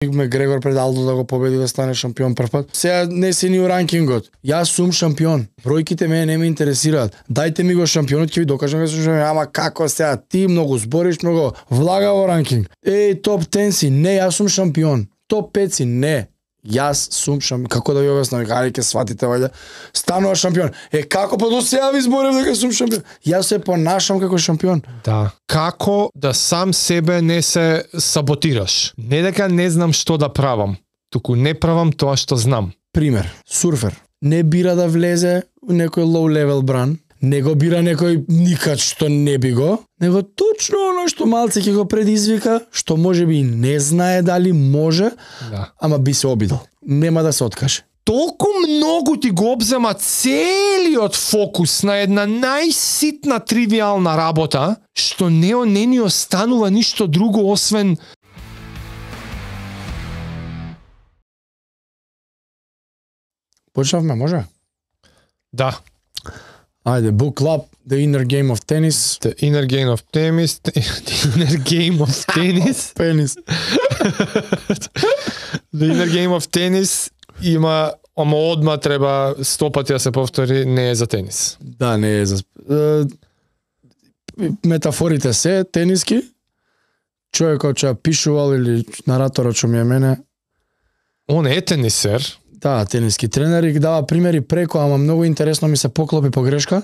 Грегор пред Алдо да го победи да стане шампион прв пат. Сега не си ни у ранкингот. Јас сум шампион. Бројките мене не ме интересираат. Дајте ми го шампионот, ќе ви докажам дека сум шампион. Ама како сега ти многу збориш, многу влага во ранкинг. Топ 10 си, не, јас сум шампион. Топ 5 си, не. Јас сум шампион. Како да ви објаснам, ајде ќе сватите вајде. Станува шампион. Како па до сега ви зборев дека сум шампион? Јас се понашам како шампион. Да. Како да сам себе не се саботираш? Не дека не знам што да правам, туку не правам тоа што знам. Пример, сурфер. Не бира да влезе у некој low level бран, не го бира некој никад што не би го, него точно оно што малце ќе го предизвика, што може би не знае дали може, Да. ама би се обидел. Нема да се откаже. Толку многу ти го обзема целиот фокус на една најситна тривијална работа, што не ни останува ништо друго освен Почнавме, може? да. Ајде, book club, the inner game of tennis. The inner game of tennis, the inner game of tennis. Пенис. The inner game of tennis има, ама одма треба 100 пати да се повтори, не е за тенис. Да, не е за... метафорите се тениски. Човекот што пишувал или нараторот што ми е мене, Он е тенисер. да, тениски тренер и дава примери преко, ама многу интересно ми се поклопи погрешка.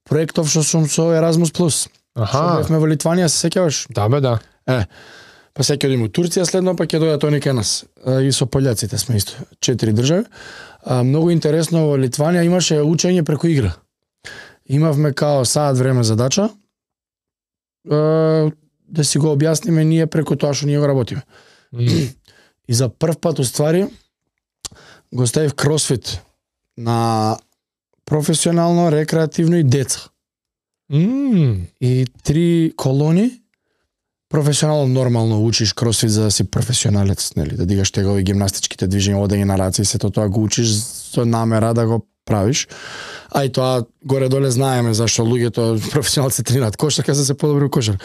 Проектов што сум со Erasmus+. Што Аха, бевме во Литванија, се сеќаваш? да бе, да. Па сега ќе одиме у Турција следно, па ќе дојдат они кај нас. И со пољаците сме исто, 4 држави. Многу интересно во Литванија имаше учење преку игра. Имавме као саат време задача, да си го објасниме ние преку тоа што ние го работиме. И за прв пат уствари го ставив кросфит на професионално, рекреативно и деца. И 3 колони. Професионално нормално учиш кросфит за да си професионалец, нели, да дигаш тегови гимнастичките движења, одење на раце и сето тоа го учиш со намера да го правиш. А и тоа горе-доле знаеме зашто луѓето професионалци тренираат кошарка за да се подобри у кошар.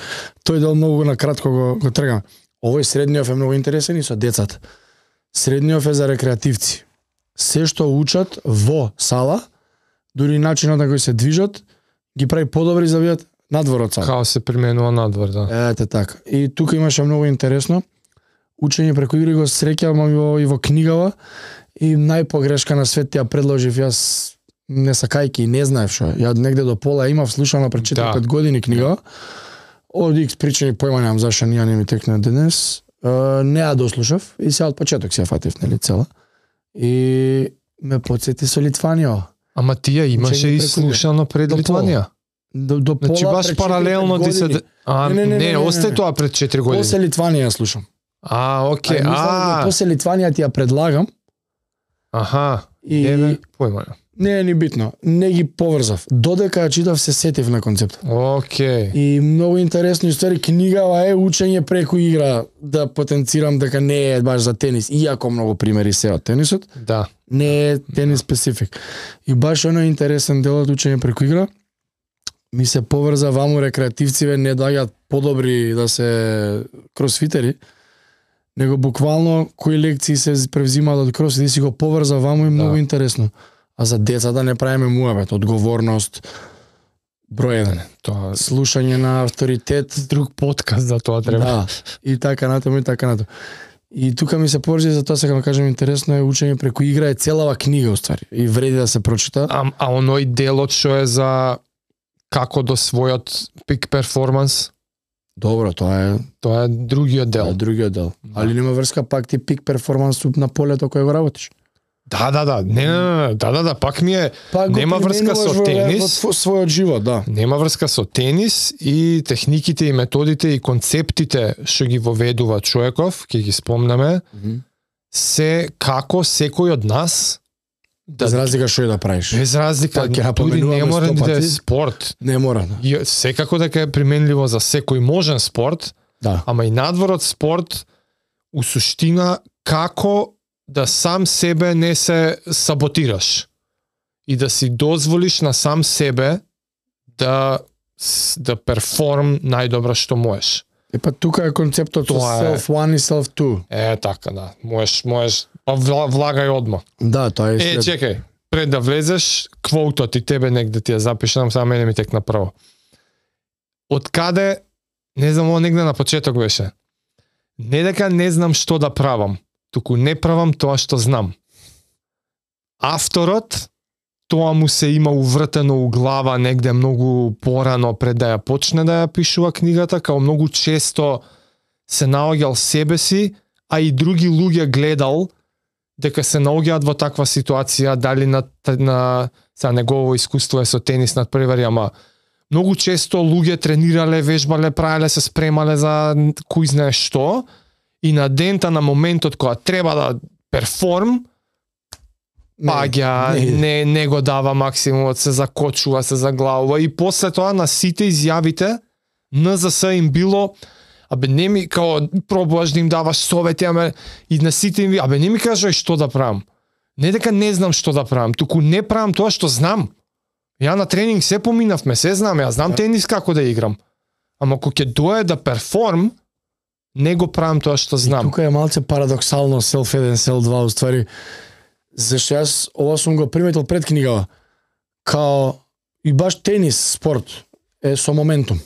Тој дел многу на кратко го тргаме. Овој средниот е многу интересен и со децата. Средниот е за рекреативци. Се што учат во сала, дури начинот на кој се движат, ги прави подобри за видат надвор од сала. Као се применува надвор, да. Ете така. И тука имаше многу интересно. Учење преку игри го среќавам и во книгава и најпогрешка на свет ја предложив јас не сакајки и не знаев што. Ја негде до пола имав слушано пред 4-5 години книга. Од X причини појма немам зашто ние не ми текна денес. Не ја дослушав и сега од почеток се ја фатив, нели, цела. И ме потсети со Литванија. Ама тие имаше Учење и преку слушано пред До Литванија. До пола Значи баш пред паралелно 4-5 ти се... години. Не, остај тоа пред 4 години. После Литванија ја слушам. Окей. После Литванија ти ја предлагам. Аха. И Појма. не е ни битно. Не ги поврзав. Додека ја читав се сетив на концепт. Окей. И многу интересно истори книгава е учење преку игра, да потенцирам дека не е баш за тенис, иако многу примери се од тенисот, Да. не е тенис специфик. И баш оно интересен дел од учење преку игра, ми се поврза ваму рекреативциве не доаѓаат подобри да се кросфитери, него буквално кои лекции се превзимаат од кросфит и си го поврза ваму и многу интересно. А за деца да не правиме муабет, одговорност, број 1. Тоа Слушање на авторитет, друг подкаст за тоа треба. да, и така натаму и така натаму. И тука ми се поврзи, за тоа сега кажам интересно е учење преку игра е целава книга уствари и вреди да се прочита. А оној делот што е за како до својот пик перформанс, Добро, тоа тоа е другиот е дел. другиот дел. Али нема врска пак ти пик перформанс на полето кој го работиш. Да. Не, пак ми е Пак го нема врска со применуваш тенис. во својот живот, да. Нема врска со тенис и техниките и методите и концептите што ги воведува човеков, ќе ги спомнеме, се како секој од нас Без разлика што и да правиш. без разлика, Пак ќе дури напоменуваме не мора 100 да е пати. спорт. Не мора, да. И секако дека е применливо за секој можен спорт, Да. ама и надвор од спорт, у суштина како да сам себе не се саботираш и да си дозволиш на сам себе да перформ најдобро што можеш. Па тука е концептот со self 1 и self 2. Така, да. Можеш, па влагај одма. Да, тоа е след... Чекај, пред да влезеш, квотот и тебе негде ти ја запишам, само мене ми текна прво. Од каде, не знам, ово негде на почеток беше. Не дека не знам што да правам, туку не правам тоа што знам. Авторот, тоа му се има увртено у глава негде многу порано пред да ја почне да ја пишува книгата, као многу често се наоѓал себе си, а и други луѓе гледал дека се наоѓаат во таква ситуација, дали на сега негово искуство е со тенис над превари, ама многу често луѓе тренирале, вежбале, правеле, се спремале за кој знае што, и на дента, на моментот кога треба да перформ, паѓа, не го дава максимумот, се закочува, се заглавува, и после тоа на сите изјавите НЗС им било, не ми, као, пробуваш да им даваш совети, и на сите им, не ми кажај што да правам. Не дека не знам што да правам, туку не правам тоа што знам. Ја на тренинг се поминавме, се знам, ја знам тенис како да играм. Ама кога ќе дое да перформ, не го правам тоа што знам. И тука е малце парадоксално self 1, self 2, уствари, зашто јас ова сум го приметил пред книгава, као и баш тенис, спорт, е со моментум.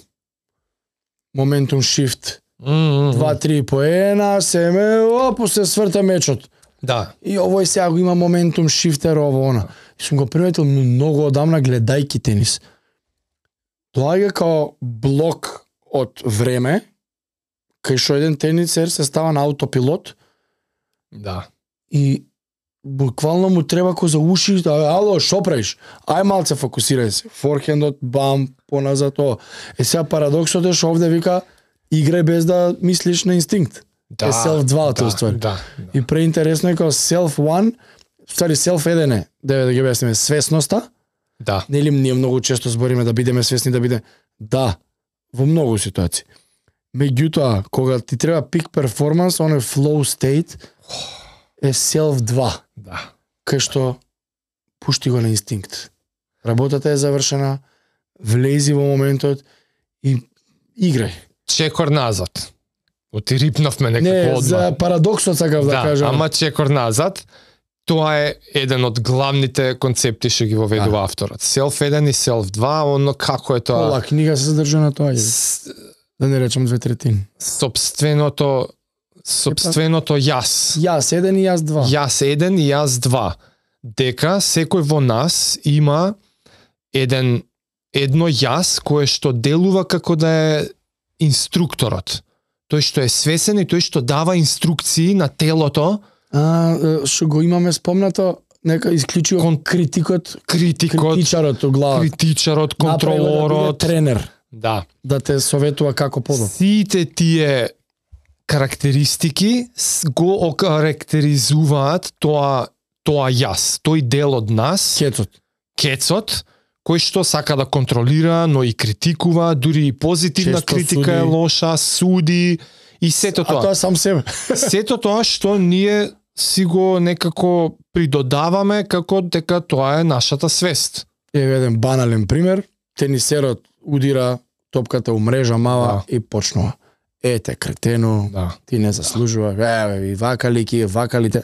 Моментум shift. 2-3 поена, се сврта мечот. Да. И овој сега го има моментум шифтер, ово она. И сум го приметил многу одамна гледајки тенис. Доаѓа као блок од време, кај што еден тенисер се става на аутопилот. Да. И буквално му треба ко за уши, ало, шо правиш? Ај малце фокусирај се. Форхендот, бам, поназад тоа. Сега парадоксот е што овде вика играј без да мислиш на инстинкт. Да, е self 2 тоа ствари. Да. И преинтересно е као self 1, ствари self 1 е, да ги објасниме, свесноста. Да. Нели ние многу често збориме да бидеме свесни, да биде. Да, во многу ситуации. Меѓутоа, кога ти треба пик перформанс, оној flow state е self 2. Да. Кај што пушти го на инстинкт. Работата е завршена, влези во моментот и играј. Чекор назад. Оти рипнавме некако одма. Не, за парадоксот сакав да кажам. Ама чекор назад, тоа е еден од главните концепти што ги воведува авторот. Self 1 и Self 2, оно како е тоа? Ола книга се задржа на тоа. Да не речем 2/3. Собственото јас. Јас 1 и јас 2. Јас 1 и јас 2. Дека секој во нас има едно јас кое што делува како да е инструкторот. Тој што е свесен и тој што дава инструкции на телото. Што го имаме спомнато, нека исклучиво критичарот у глава. Критичарот, контролорот, да тренер. Да. Да те советува како подобро. Сите тие карактеристики го окарактеризуваат тоа јас, тој дел од нас. Кецот, кој што сака да контролира, но и критикува, дури и позитивна често критика суди. Е лоша, суди и сето тоа. А тоа сам себе. Сето тоа што ние си го некако придодаваме како дека тоа е нашата свест. Еве еден банален пример, тенисерот удира топката у мрежа мала и почнува. Ете кретено, ти не заслужува, и вакалите.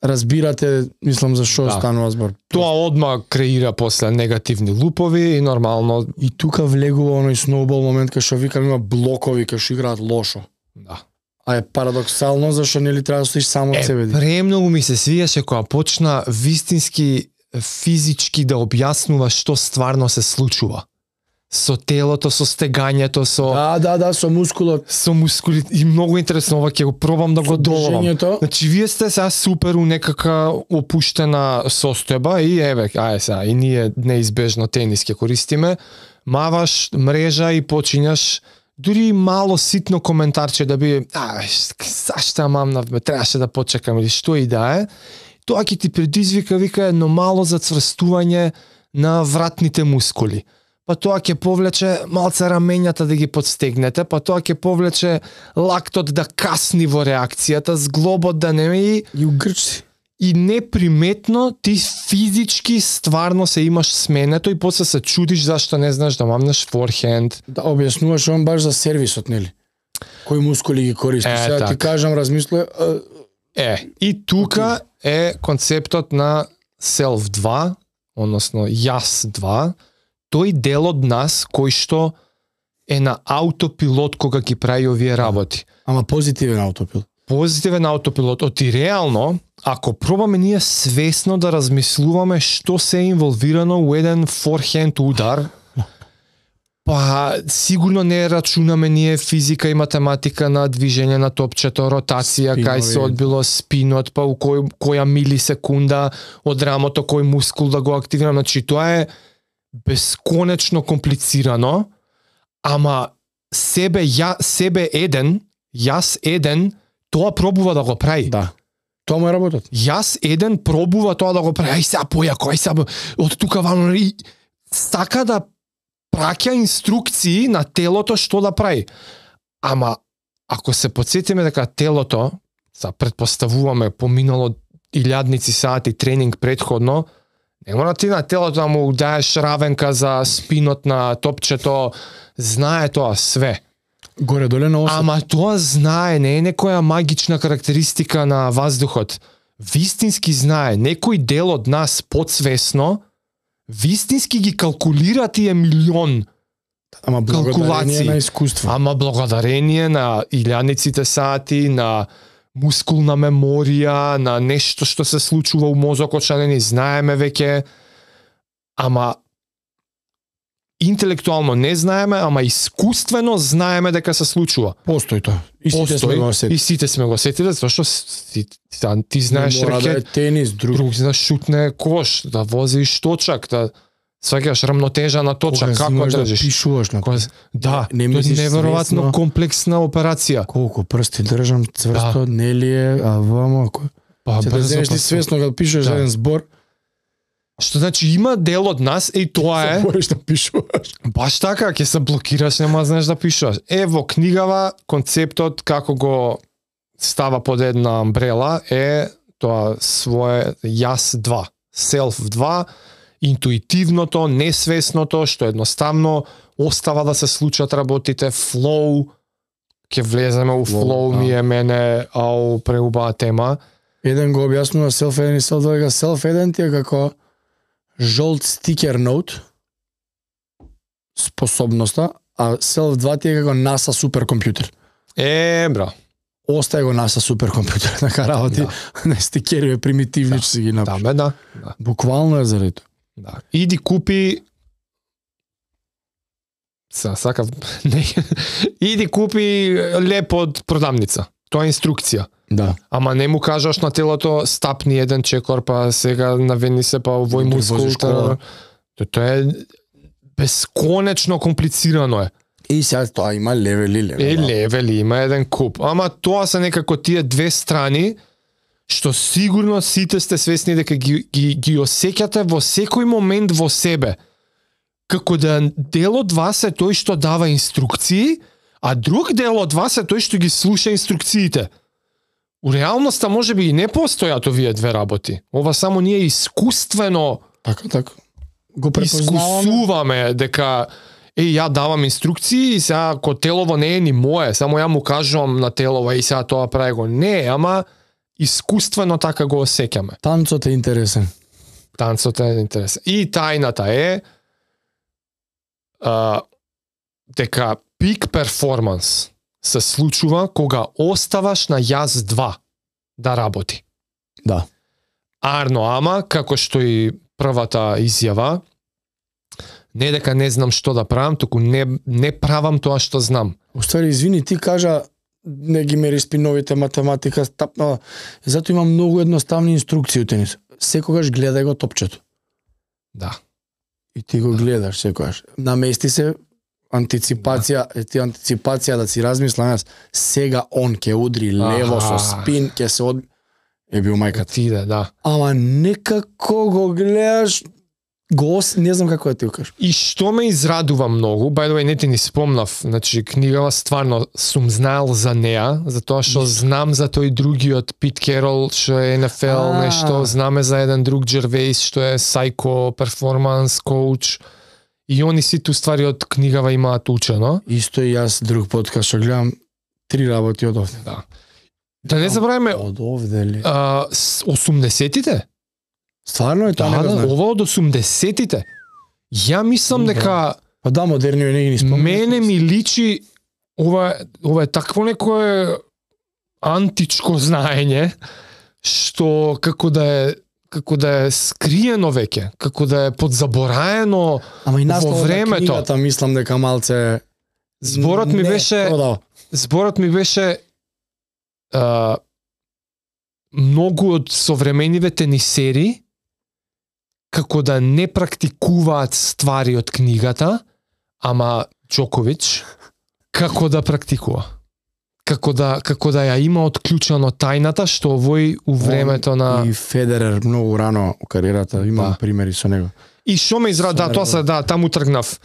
Разбирате, мислам за што станува збор. Тоа одма креира после негативни лупови и нормално. И тука влегува оној сноубол момент кај што викам има блокови кај што играат лошо. Да. А е парадоксално зашто нели треба да стоиш само од себе. Премногу ми се свиеше кога почна вистински физички да објаснува што стварно се случува. Со телото, со стегањето, со... Да, со мускулот. Со мускулите. И многу интересно, ова ќе го пробам да го доловам. Значи, вие сте сега супер у некака опуштена состојба и еве, сега, и ние неизбежно тенис ќе користиме, маваш мрежа и почињаш дури мало ситно коментарче да би, зашто ја мамнав, требаше да почекам или што и да е, тоа ќе ти предизвика, вика, едно мало зацврстување на вратните мускули. Па тоа ќе повлече малце рамењата да ги подстегнете, па тоа ќе повлече лактот да касни во реакцијата, зглобот да не и угрчи. И неприметно ти физички стварно се имаш сменето и после се чудиш зашто не знаеш да мамнеш форхенд. Да објаснуваш он баш за сервисот, нели? Кои мускули ги користиш? Сега ти кажам, размисле. И тука е концептот на Self 2, односно Јас 2, тој дел од нас кој што е на аутопилот кога ги прави овие работи. Ама позитивен аутопилот. Позитивен аутопилот. Оти реално, ако пробаме ние свесно да размислуваме што се е инволвирано у еден форхенд удар, па сигурно не рачунаме ние физика и математика на движење на топчето, ротација, кај се одбило спинот, па у која милисекунда од рамото кој мускул да го активираме. Значи тоа е бесконечно комплицирано, ама јас еден, тоа пробува да го прави. Да. Тоа му е работот. Јас еден пробува тоа да го прави. Ај сега појако, ај сега од тука ваму и сака да праќа инструкции на телото што да прави. Ама ако се потсетиме дека телото, предпоставуваме поминало илјадници сати тренинг претходно, не мора ти на телото да му даеш равенка за спинот на топчето, знае тоа све. Горе-доле на осет. Ама тоа знае, не е некоја магична карактеристика на ваздухот. Вистински знае, некој дел од нас подсвесно, вистински ги калкулира тие милион Ама благодарение на искуство. Ама благодарение на илјадниците сати, на мускулна меморија, на нешто што се случува у мозокот, што не ни знаеме веќе. Ама интелектуално не знаеме, ама искуствено знаеме дека се случува. Постои тоа. И сите сме го осетиле, зашто ти знаеш рекет, да тенис, друг знаеш шутне кош, да возиш точак, да сваќаш рамнотежа на точак, како држиш. Да пишуваш на тоа. Да, тоа е неверојатно комплексна операција. Колку прсти држам цврсто, нели е, а вамо ако се да знаеш ти свесно кога пишуваш еден збор. Што значи има дел од нас и тоа е. Можеш да пишуваш. Баш така, ќе се блокираш, нема знаеш да пишуваш. Во книгава концептот како го става под една амбрела е тоа свое Јас 2, Self 2, интуитивното, несвесното, што едноставно остава да се случат работите, flow, ќе влеземе у flow, ми е мене, преубава тема. Еден го објаснува Self 1 и Self 2, дека Self 1 ти е како жолт стикер ноут, способноста, а Self 2 ти е како NASA суперкомпјутер. Бра. Остај го NASA суперкомпјутер, така работи, на стикери примитивни, че си ги напиш. Да. Буквално е заради тоа. Да. Иди купи Иди купи леп од продавница. Тоа е инструкција. Да. Ама не му кажаш на телото стапни еден чекор, па сега навени се па овој мускул. Тоа е бесконечно комплицирано е. И сега тоа има левели. Левели, има еден куп. Ама тоа се некако тие две страни што сигурно сите сте свесни дека ги осеќате во секој момент во себе. Како да дел од вас е тој што дава инструкции, а друг дел од вас е тој што ги слуша инструкциите. У реалноста може би и не постојат овие две работи. Ова само ние искуствено така го искусуваме дека ја давам инструкции и сега ако телово не е ни мое, само ја му кажувам на телово и сега тоа прави го. Не, ама искуствено така го осеќаме. Танцот е интересен. И тајната е дека пик перформанс се случува кога оставаш на Јас 2 да работи. Да. Ама, како што и првата изјава, не дека не знам што да правам, туку не правам тоа што знам. Уствари, извини, ти кажа не ги мериш спиновите, математика, стапнава. Зато има многу едноставни инструкции у тенис. Секогаш гледај го топчето. Да. И ти го гледаш секогаш. Намести се антиципација, антиципација да си размислам јас, сега он ќе удри лево со спин, ќе се е бил мајката. Тиде, да. Ама некако го гледаш, не знам како да ти го кажам. И што ме израдува многу, by the way, не ти ни спомнав, значи книгава стварно сум знаел за неа, затоа што знам за тој другиот Пит Керол, што е NFL, нешто, знаме за еден друг Джервейс, што е psycho performance coach, и они сите ствари од книгава имаат учено. Исто и јас друг подкаст што гледам, 3 работи од овде. Да не забравиме од овде ли? 80-тите? Стварно е тоа не го знаеш. Ова од 80-тите. Ја мислам дека па да, модерниот не ги спомнам. Мене ми личи ова е такво некое античко знаење што како да е скриено веќе, како да е подзабораено во времето. Книгата мислам дека малце зборот ми беше многу од современиве тенисери како да не практикуваат ствари од книгата, ама Џоковиќ како да практикува. Како да ја има отклучено тајната што овој у времето на и Федерер многу рано у кариерата, имам примери со него. И што ме израда, таму тргнав.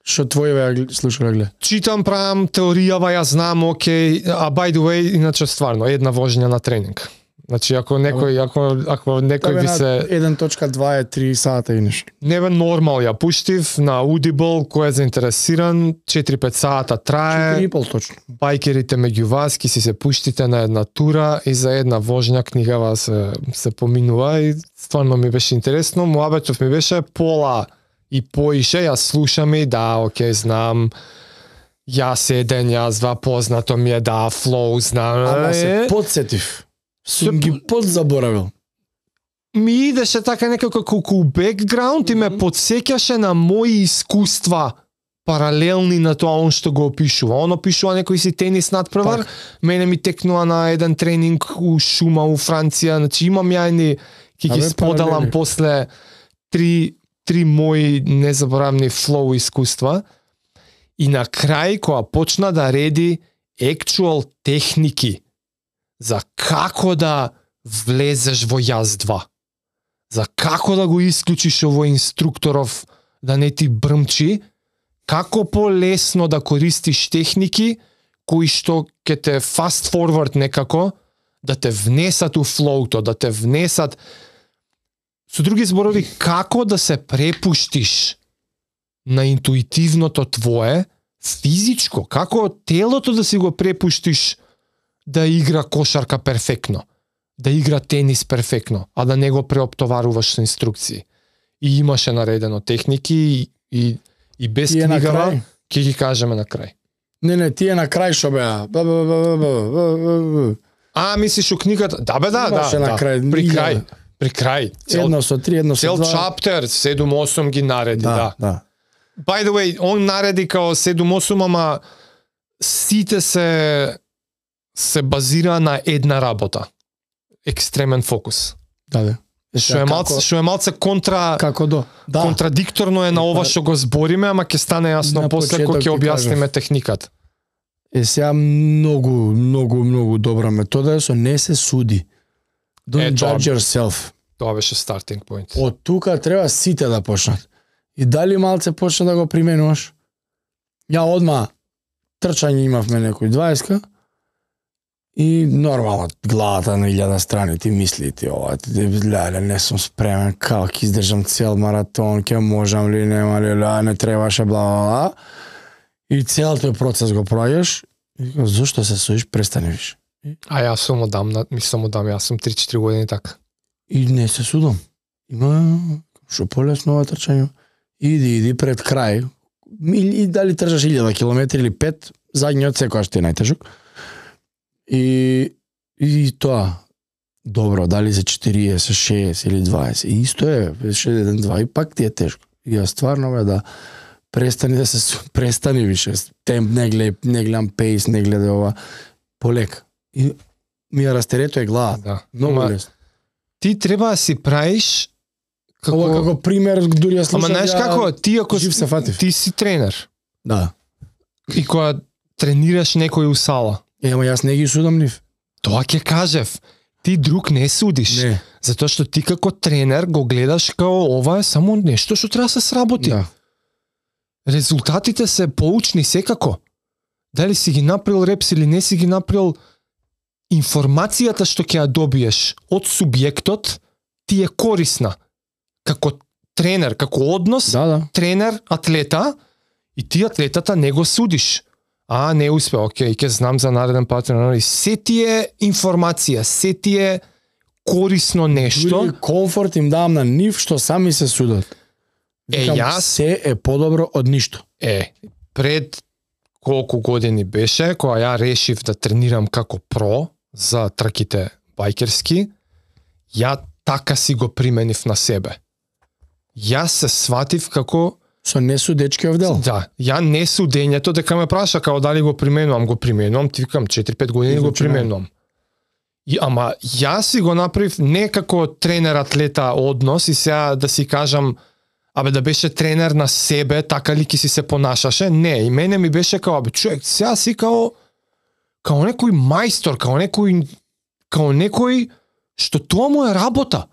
Што твоје слушале гле? Читам, правам теоријава, ја знам, окей, а by the way, иначе стварно една вожња на тренинг. Значи ако некој би се 1.2 е 3 сата и нешто. Не бе нормал ја пуштив на Audible, кој е заинтересиран, 4-5 сата трае. 4,5 точно. Байкерите меѓу вас ки си се пуштите на една тура и за една вожња книгава се поминува и стварно ми беше интересно. Муабетов ми беше пола и поише, јас слушам и да, окей, знам. Јас еден, јас два, познато ми е, да, флоу, знам. Ама се подсетив. Сум ги подзаборавил. Ми идеше така некако колку бекграунд и ме подсеќаше на мои искуства паралелни на тоа он што го опишува. Он опишува некој си тенис надпревар, мене ми текнува на еден тренинг у шума у Франција, значи имам ја ќе ги споделам после три мои незаборавни флоу искуства. И на крај кога почна да реди actual техники за како да влезеш во јаз 2. За како да го исклучиш овој инструкторов да не ти брмчи, како полесно да користиш техники кои што ќе те fast forward некако, да те внесат у флоуто, да те внесат. Со други зборови, како да се препуштиш на интуитивното твое, физичко, како телото да си го препуштиш да игра кошарка перфектно, да игра тенис перфектно, а да не го преоптоваруваш со инструкции. И имаше наредено техники и без книгава, ќе ги кажеме на крај. Не, тие на крај шо беа. А, мислиш у книгата? Да бе, да. При крај. Едно со 3, едно со 2. Цел чаптер, 7-8 ги нареди, да. By the way, он нареди као 7-8, ама сите се базира на една работа. Екстремен фокус. Да. Што е малце контрадикторно е на ова што го збориме, ама ќе стане јасно после кога ќе објасниме техниката. Сега многу добра метода е со не се суди. Don't judge yourself. Тоа беше starting point. Од тука треба сите да почнат. И дали малце почна да го применуваш? Ја одма трчање имавме некој 20-ка и нормално главата на 1000 страни ти мисли ти ова, не сум спремен, како ќе издржам цел маратон, ќе можам ли, нема ли, не требаше, бла. И цел тој процес го проаѓаш и зошто се судиш, престани виш. А јас сум одам, јас сум 3-4 години така. И не се судам. Има што полесно ова трчање. Иди пред крај. И дали трчаш 1000 километри или 5, задниот секогаш ти е најтежок. И тоа. Добро, дали за 40, 60 или 20. И исто е, 1-2 и пак ти е тешко. И ја стварно бе да престани више. Темп не гледам пейс, не гледа ова. Полека. И ми ја растерето е глава. Да. Многу лесно. Ти треба да си правиш како пример, дури ја слушам. Ама знаеш како, ти ако ти си тренер. Да. И кога тренираш некој у сала. Ама јас не ги судам нив. Тоа ќе кажев. Ти друг не судиш. Не. Затоа што ти како тренер го гледаш као ова е само нешто што треба да се сработи. Да. Резултатите се поучни секако. Дали си ги направил репс или не си ги направил, информацијата што ќе ја добиеш од субјектот ти е корисна. Како тренер, како однос, тренер, атлета, и ти атлетата не го судиш. не успеа, окей, ќе знам за нареден пат, се ти е информација, се ти е корисно нешто. Дури комфорт им давам на нив што сами се судат. Викам, се е подобро од ништо. Пред колку години беше, кога ја решив да тренирам како про за трките бајкерски, ја така си го применив на себе. Јас се сватив како со несудечкиов дел. Да, ја несудењето дека ме праша како дали го применувам, ти викам 4-5 години го применувам. Ама јас си го направив не како тренер-атлета однос и сега да си кажам да беше тренер на себе, така ли ки си се понашаше? Не, и мене ми беше као, човек, сега си као некој мајстор, као некој што тоа му е работа.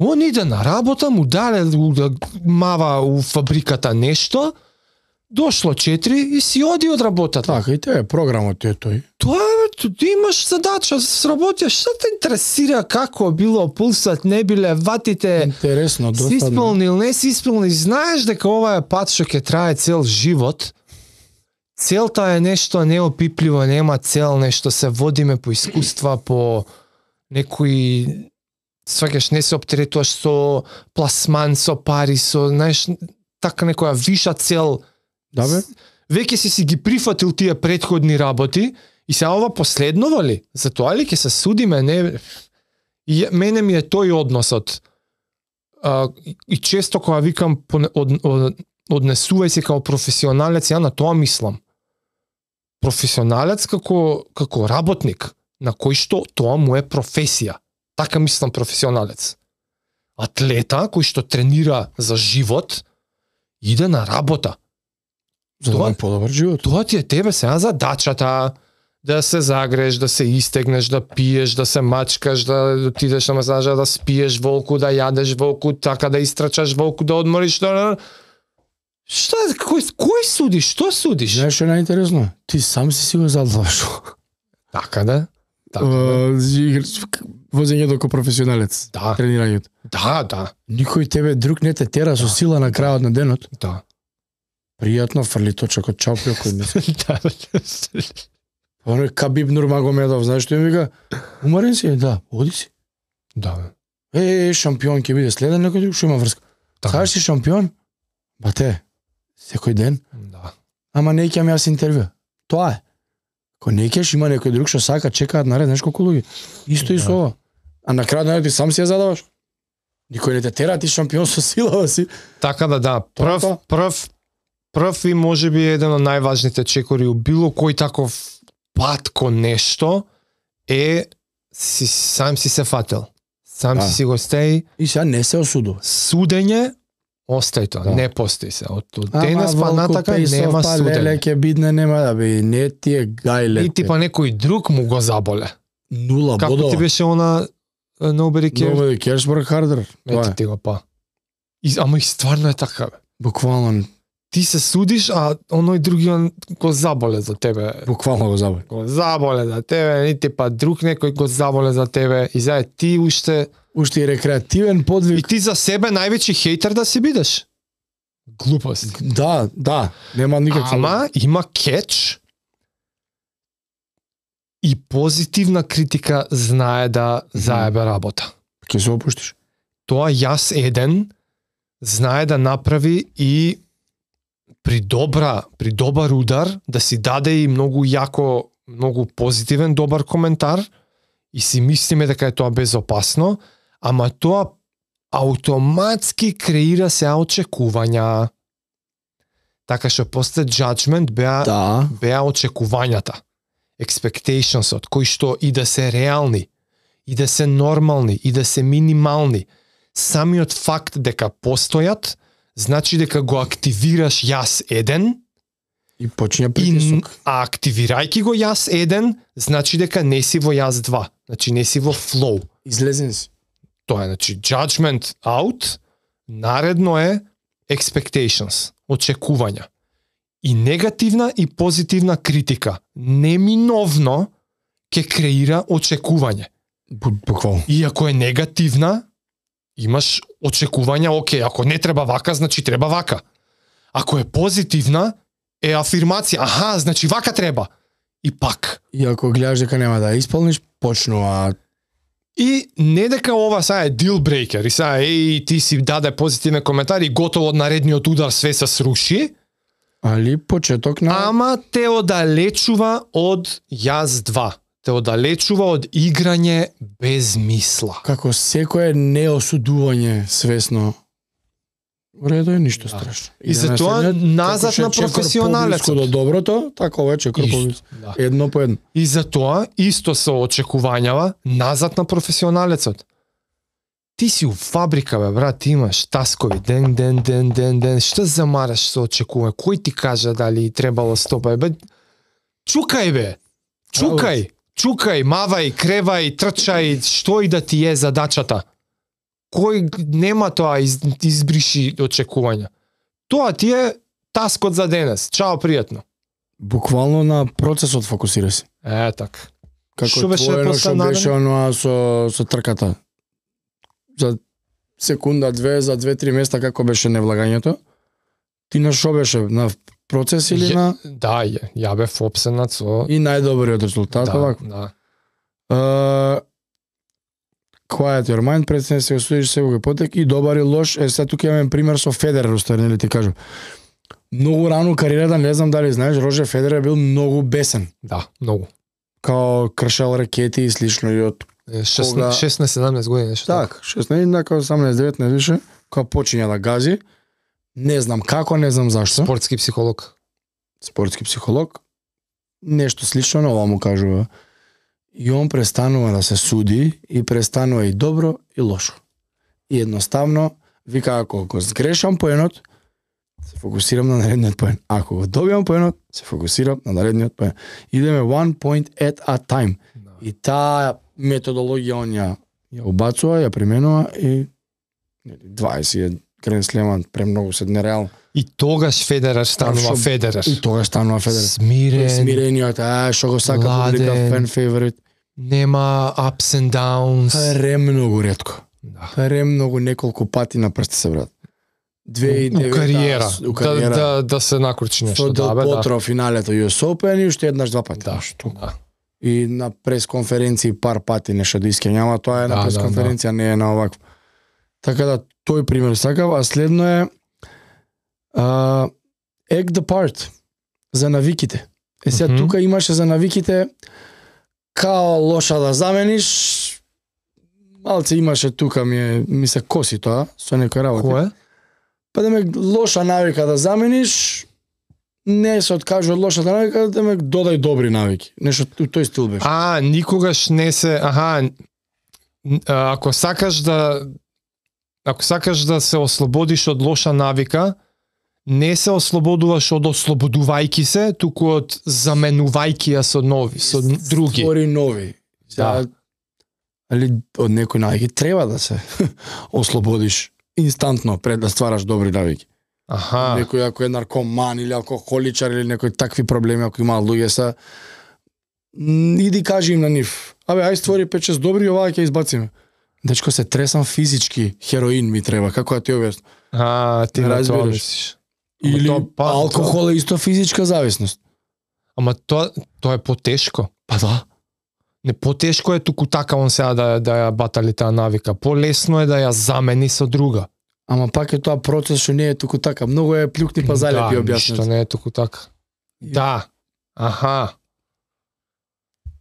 Он иде на работа, му дале да мава у фабриката нешто, дошло 4 и си оди од работата. Така, и тоа е програмот тој. Тоа ти имаш задача, сработиш, што те интересира како било пулсат, не биле ватите. Интересно, досадно. Си исполнил, не си исполнил, знаеш дека ова е пат што ќе трае цел живот. Целта е нешто неопипливо, нема цел, нешто се водиме по искуства, по некои сваќаш, не се оптеретуваш со пласман, со пари, со, знаеш, така некоја виша цел. Да бе. Веќе си ги прифатил тие претходни работи и се ова последнова ли? За тоа ли ќе се судиме? Не. И мене ми е тој односот. И често кога викам однесувај се како професионалец, ја на тоа мислам. Професионалец како работник, на кој што тоа му е професија. Така мислам професионалец. Атлета кој што тренира за живот, иде на работа. За да подобар живот. Тоа ти е тебе сега задачата, да се загреш, да се истегнеш, да пиеш, да се мачкаш, да отидеш на масажа, да спиеш волку, да јадеш волку, така да истрачаш волку, да одмориш, Што, кој судиш? Што судиш? Знаеш што е најинтересно? Ти сам си го задаваш. Така да? Возењето како професионалец. Да. Тренирањето. Да. Никој тебе друг не те тера со сила на крајот на денот. Да. Пријатно, фрли точак од чалпио кој мисли. Да. Оно е Кабиб Нурмагомедов, знаеш што им вика? Уморен си? Да, оди си. Да. Шампион ќе биде следен некој друг, што има врска. Кажеш си шампион? Бате, секој ден. Да. Ама не ќе јас интервју. Тоа е. Ако не кеш, има некој друг што сака, чекаат наред, знаеш колку луѓе. Исто и со ова. А на крајот на ти сам си ја задаваш. Никој не те тера, ти шампион со сила си. Така да. Прв и можеби еден од најважните чекори у било кој таков пат кон нешто е сам си се фател. Сам си го стеј. И сега не се осудува. Судење остај тоа, не постои се. Од денес па натака нема судење. Леле ќе бидне, нема да би, не ти е гајле. И типа некој друг му го заболе. Нула како бодова. Како ти беше она Nobody Cares? Nobody Cares work harder. Ето ти го па. Ама и стварно е така, бе. Буквално. Ти се судиш, а оној другиот го заболе за тебе. Буквално го заболе. Го заболе за тебе, ни типа друг некој го заболе за тебе. И заед ти уште и рекреативен подвиг. И ти за себе највеќи хейтер да си бидеш. Глупост. Да, нема никаква. Ама има кетч. И позитивна критика знае да заебе работа. Ќе се опуштиш. Тоа јас еден знае да направи и при добар удар да си даде и многу јако, многу позитивен добар коментар и си мислиме дека е тоа безопасно, ама тоа автоматски креира се очекувања. Така што после judgment беа очекувањата. Expectationsот, кои што и да се реални, и да се нормални, и да се минимални. Самиот факт дека постојат, значи дека го активираш јас еден, и почиња притисок. А активирајќи го јас еден, значи дека не си во јас 2. Значи не си во flow. Излезен си. Тоа е, значи judgment out, наредно е expectations, очекувања. И негативна и позитивна критика неминовно ќе креира очекување. Буквално. И ако е негативна, имаш очекувања, окей, ако не треба вака, значи треба вака. Ако е позитивна, е афирмација. Аха, значи вака треба. И пак. И ако гледаш дека нема да исполниш, почнува. И не дека ова сега е deal breaker, и сега ти си даде позитивен коментар и готово од наредниот удар све се сруши. Али почеток на... Ама те одалечува од јас 2. Те одалечува од играње без мисла. Како секое неосудување свесно. Редо е ништо страшно. И затоа назад на професионалецот. До доброто, така вече крповиц. Да. Едно по едно. И затоа исто се очекувањава назад на професионалецот. Ти си у фабрика, бе, брат, имаш таскови, ден, што замараш со очекување? Кој ти кажа дали требало стопа? Бе, чукај, бе! Чукај, мавај, кревај, трчај, што и да ти е задачата. Кој нема тоа избриши очекувања. Тоа ти е таскот за денес. Чао, пријатно. Буквално на процесот фокусира си. Така. Како што беше оноа со трката. За секунда, две, за 2-3 места како беше невлагањето. Ти на шо беше? На процес или на... Да, ја бев опсенат со... И најдобриот резултат, овако. Да. Quiet your mind, пред се осудиш секој потек и добар и лош. Сега тука имаме пример со Федерер, устари, нели ти кажам. Многу рано кариерата, не знам дали знаеш, Рожер Федерер бил многу бесен. Да, многу. Као кршал ракети и слично и од 16-17 години нешто. Так, 16, така 18-19 више, кога почиња да гази. Не знам како, не знам зашто. Спортски психолог. Нешто слично на ова му кажува. И он престанува да се суди и престанува и добро и лошо. И едноставно вика, ако го сгрешам поенот, се фокусирам на наредниот поен. Ако го добиам поенот, се фокусирам на наредниот поен. Идеме one point at a time. No. И таа методологија он ја убацува, ја применува и 20 Гранд Слеман премногу се нереално. И тогаш Федерер станува Федерер. Смирениот, што го сака публика, фен фаворит. Нема ups and downs. Премногу ретко. Да. Премногу неколку пати на прсти се брат. 2009 у кариера. Да се накручи нешто. Да, бе, потро финалето US Open и уште еднаш два пати. Да. И на пресконференции пар пати нешто да искењава, тоа е на пресконференција, не е на овакво. Така да тој пример сакав, а следно е act the part за навиките. Сега тука имаше за навиките као лоша да замениш, малце имаше тука ми се коси тоа со некој работи. Кое? Па да ме лоша навика да замениш, не се откажува од лошата навика, да ме додај добри навики. Нешто тој стил беше. Никогаш не се, ако сакаш да се ослободиш од лоша навика, не се ослободуваш од ослободувајки се, туку од заменувајки ја со нови, со други. Створи нови. Да. Али од некој навики треба да се ослободиш инстантно пред да ствараш добри навики. Некој ако е наркоман или алкохоличар или некои такви проблеми, ако има луѓе са, иди кажи им на нив. Ај створи 5-6 добри, оваа ќе избациме. Дечко, се тресам физички, хероин ми треба, како да ти објаснам. Ти не тоа мислиш. Или алкохол е исто физичка зависност. Ама тоа е потешко. Па да. Не, потешко е туку така он сега да ја батали таа навика. Полесно е да ја замени со друга. Ама пак е тоа процес што не е туку така. Многу е плюкни па залепи објаснет. Да, ништо не е туку така. Да.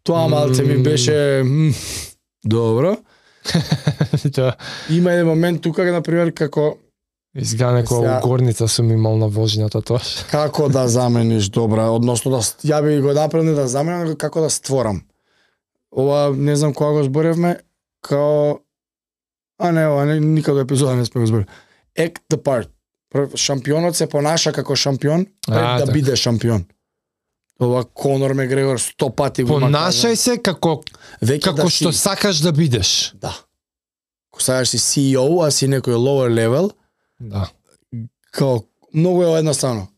Тоа малце ми беше добро. Да. Има еден момент тука, например, како изгледа некоја горница сум имал на вожењето тоа. Како да замениш добра, односно да ја би го направил да заменам, како да створам. Ова не знам кога го зборевме, као никаде епизода не сме го зборили. Act the part. Шампионот се понаша како шампион пред да биде шампион. Ова Конор Мегрегор 100 пати го понашај се како што сакаш да бидеш. Да. Ако сакаш си CEO, а си некој lower level, да. Као многу е едноставно.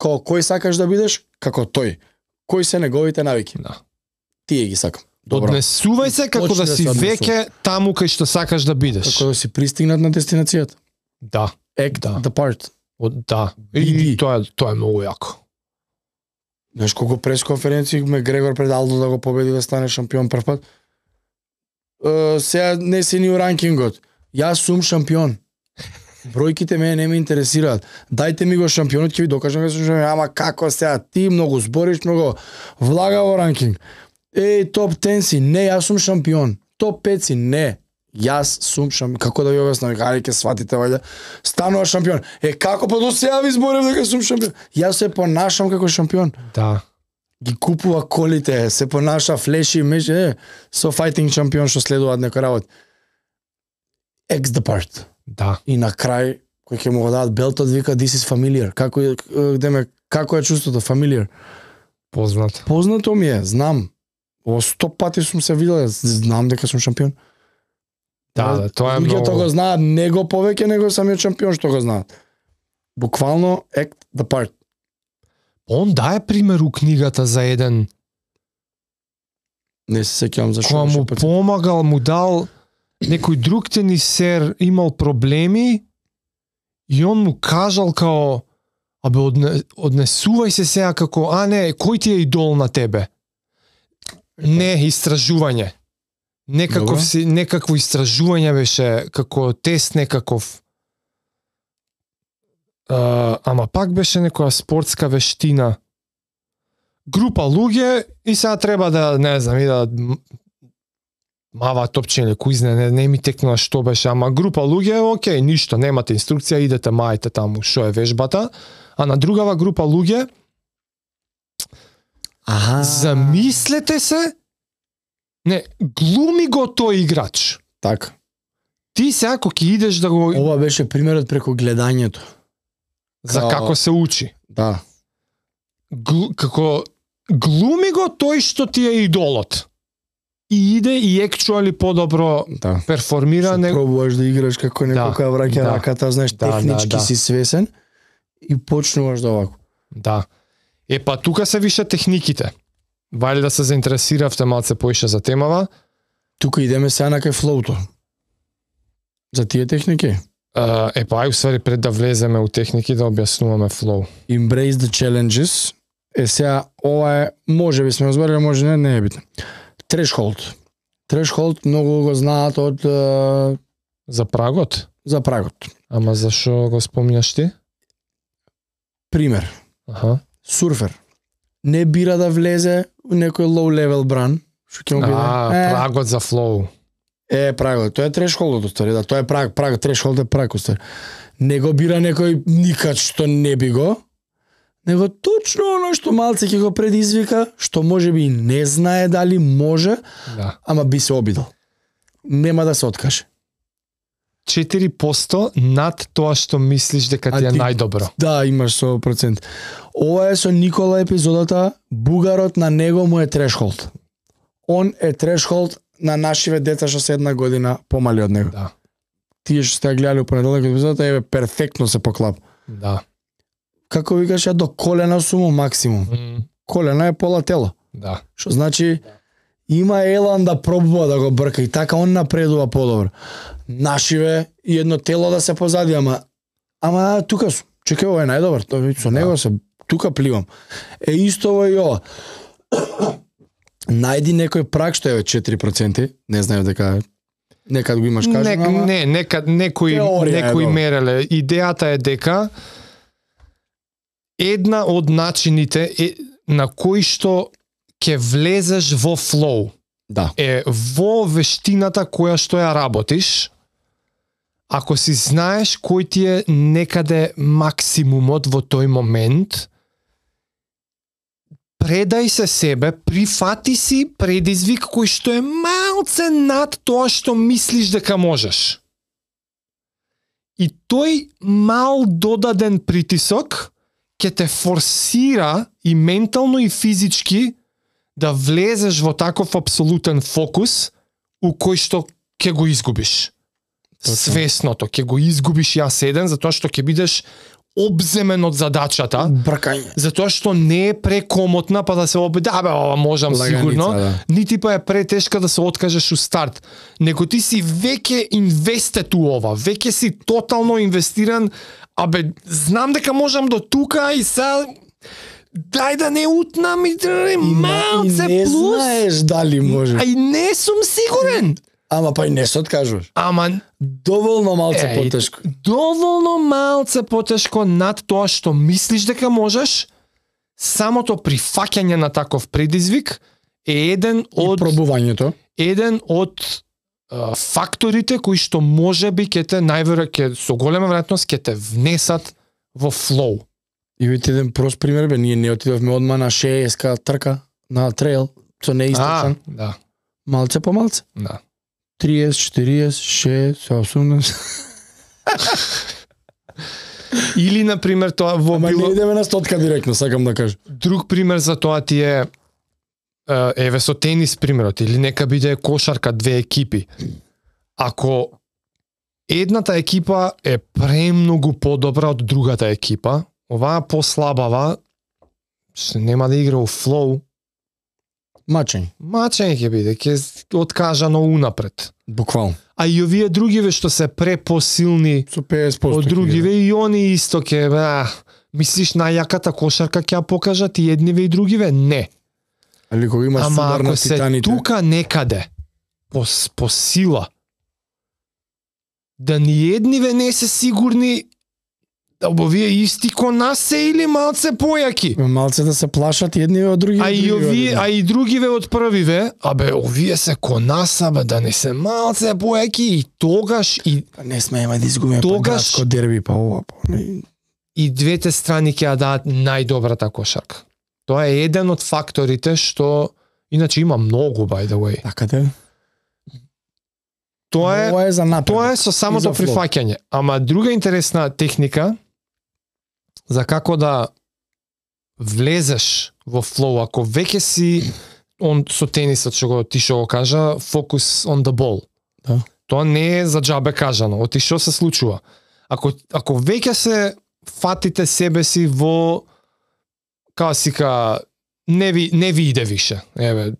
Као кој сакаш да бидеш, како тој. Кои се неговите навики? Да. Тие ги сакам. Однесувај се како да си веќе таму кај што сакаш да бидеш. Како да си пристигнат на дестинацијата. Да. Act the part. Да. И тоа е многу јако. Знаеш колку пресконференции Грегор пред Алдо да го победи да стане шампион прв пат? Сега не си ни у ранкингот. Јас сум шампион. Бројките мене не ме интересираат. Дајте ми го шампионот, ќе ви докажам дека сум шампион. Ама како сега ти многу збориш, многу влага во ранкинг. Топ 10 си, не, јас сум шампион. Топ 5 си, не. Јас сум шампион. Како да ви објаснам, хајде ќе сватите вајде. Станува шампион. Како па до сега ви зборев дека сум шампион? Јас се понашам како шампион. Да. Ги купува колите, се понаша флеши, со фајтинг шампион што следуваат некои работи. X the part. Да. И на крај кој ќе му го дадат белтот вика this is familiar. Како е чувството familiar? Познато. Познато ми е, знам. 100 пати сум се видел, знам дека сум шампион. Да, тоа е многу. Луѓето го знаат него повеќе него самиот шампион што го знаат. Буквално act the part. Он дае пример у книгата за еден. Не се сеќавам зашто. Која му помагал, му дал некој друг тенисер имал проблеми и он му кажал као однесувај се сега како не, кој ти е идол на тебе? Не, истражување. Некакво истражување беше како тест некаков. Ама пак беше некоја спортска вештина. Група луѓе и сега треба да, не знам, и да мава топчење, куизне, не ми текнува што беше, ама група луѓе, окей, ништо, немате инструкција, идете мајте таму што е вежбата, а на другава група луѓе, замислете се, не, глуми го тој играч. Така. Ти сега ако ќе идеш да го... Ова беше примерот преку гледањето. За како се учи. Да. Како глуми го тој што ти е идолот. И иде и actually подобро перформира. Што пробуваш да играш како некој која враќа раката, знаеш, технички си свесен и почнуваш да овако. Да. Па тука се више техниките. Вали да се заинтересиравте малце поише за темава. Тука идеме сега на кај флоуто. За тие техники? Па уствари пред да влеземе у техники да објаснуваме флоу. Embrace the challenges. Сега ова е, може би сме разбрали, може не е битно. Threshold. Threshold многу го знаат од... За прагот? За прагот. Ама зашо го спомнјаш ти? Пример. Сурфер. Не бира да влезе у некој low level бран. Што ќе му биде? Прагот за флоу. Прагот. Тоа е thresholdот, устари. Да, тоа е праг. Threshold е праг, устари. Не го бира некој никад што не би го, него точно оно што малце ќе го предизвика, што може би не знае дали може, ама би се обидел. Нема да се откаже. 4% над тоа што мислиш дека ти е најдобро. Да, имаш 100%. Ова е со Никола епизодата, бугарот на него му е threshold. Он е threshold на нашиве деца што се 1 година помали од него. Да. Тие што сте гледали у понеделник епизодата, перфектно се поклап. Да. Како викаш, до колена сум максимум. Колена е пола тело. Да. Што значи има елан да пробува да го брка и така он напредува подобро. Нашиве и едно тело да се позади, ама тука сум. Чекај, ова е најдобар, тоа со него се тука пливам. Исто во и ова. Најди некој праг што е 4%, не знаев дека некад го имаш кажано, ама... Не, некад некој мереле. Идејата е дека една од начините на кои што ќе влезеш во флоу е во вештината која што ја работиш. Ако си знаеш кој ти е некаде максимумот во тој момент, предај се себе, прифати си предизвик кој што е малце над тоа што мислиш дека можеш. И тој мал додаден притисок ќе те форсира и ментално и физички да влезеш во таков апсолутен фокус у кој што ќе го изгубиш. Свесното ќе го изгубиш јас еден, затоа што ќе бидеш обземен од задачата, бркање. Затоа што не е прекомотна па да се ова можам сигурно, нити па е претешка да се откажеш у старт. Него ти си веќе инвестет у ова, веќе си тотално инвестиран, знам дека можам до тука и сега дај да не утнам и малце не плюс. знаеш дали може. А и не сум сигурен. Ама па и не се откажуваш. Ама доволно малце потешко. Доволно малце потешко над тоа што мислиш дека можеш. Самото прифаќање на таков предизвик е еден од пробувањето. Еден од факторите кои што можеби ќе те најверојатно со голема веројатност ќе те внесат во флоу. И видите еден прост пример бе, ние не отидовме одма на 6 трка на трейл, со неистрчан. Да. Малце по малце. Да. 30, 40, 6, 18. Или на пример тоа во било... не идеме на стотка директно, сакам да кажам. Друг пример за тоа ти е еве со тенис примерот, или нека биде кошарка, две екипи. Ако едната екипа е премногу подобра од другата екипа, оваа послабава, што нема да игра во флоу. Мачење ќе биде, ќе откажано унапред. Буквално. А и овие другиве што се препосилни со 50% од другиве и они исто ќе мислиш најаката кошарка ќе ја покажат и едниве и другиве? Не. Али кога имаш судар на титаните. Ама ако се тука некаде по сила да ни едниве не се сигурни да овие исти ко нас се или малце појаки. Малце да се плашат едниве од другиве. А и другиве од првиве, овие се ко нас, да не се малце појаки и тогаш и не смееме да изгубиме градско дерби па ова. И двете страни ќе ја дадат најдобрата кошарка. Тоа е еден од факторите што иначе има многу by the way. Така да. Тоа е за напред. Тоа е со самото прифаќање. Ама друга интересна техника за како да влезеш во флоу, ако веќе си со тенисот што го кажа, focus on the ball. Да. Тоа не е за џабе кажано. Оти што се случува? Ако веќе се фатите себе си во касика не ви иде више. Еве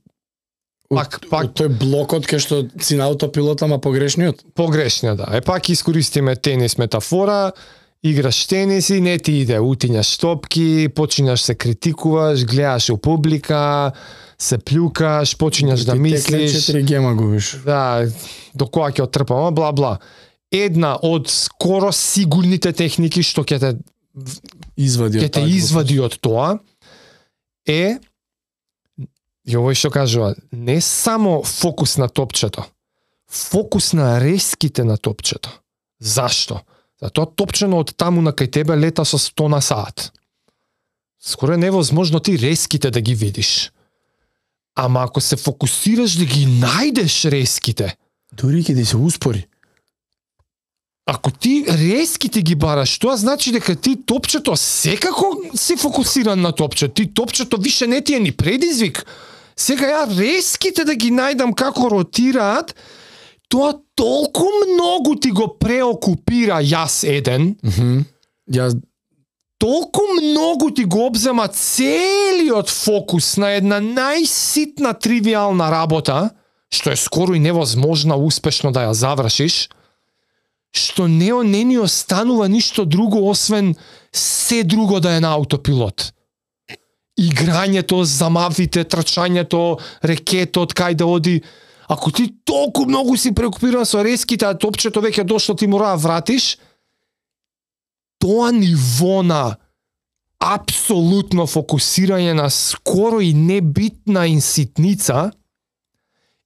пак тој блокот кај што си на аутопилот, ама погрешниот. Погрешниот, да. Пак искористиме тенис метафора. Играш тенис и не ти иде, утињаш топки, почињаш се критикуваш, гледаш у публика, се плюкаш, почињаш да мислиш. 4 гема губиш. Да, до која ќе оттрпам, бла бла. Една од скоро сигурните техники што ќе те извади од тоа е, и овој што кажува, не само фокус на топчето, фокус на резките на топчето. Зашто? Затоа топчено од таму на кај тебе лета со 100 на саат. Скоро е невозможно ти резките да ги видиш. Ама ако се фокусираш да ги најдеш резките, дури ќе ти се успори. Ако ти резките ги бараш, тоа значи дека ти топчето секако си фокусиран на топчето. Ти топчето више не ти е ни предизвик. Сега ја резките да ги најдам како ротираат, тоа толку многу ти го преокупира јас еден. Толку многу ти го обзема целиот фокус на една најситна тривијална работа, што е скоро и невозможно успешно да ја завршиш, што не ни останува ништо друго освен се друго да е на аутопилот. Играњето, замавите, трчањето, рекетот, кај да оди. Ако ти толку многу си преокупиран со резките, а топчето веќе дошло, ти мора да вратиш, тоа ниво на апсолутно фокусирање на скоро и небитна инситница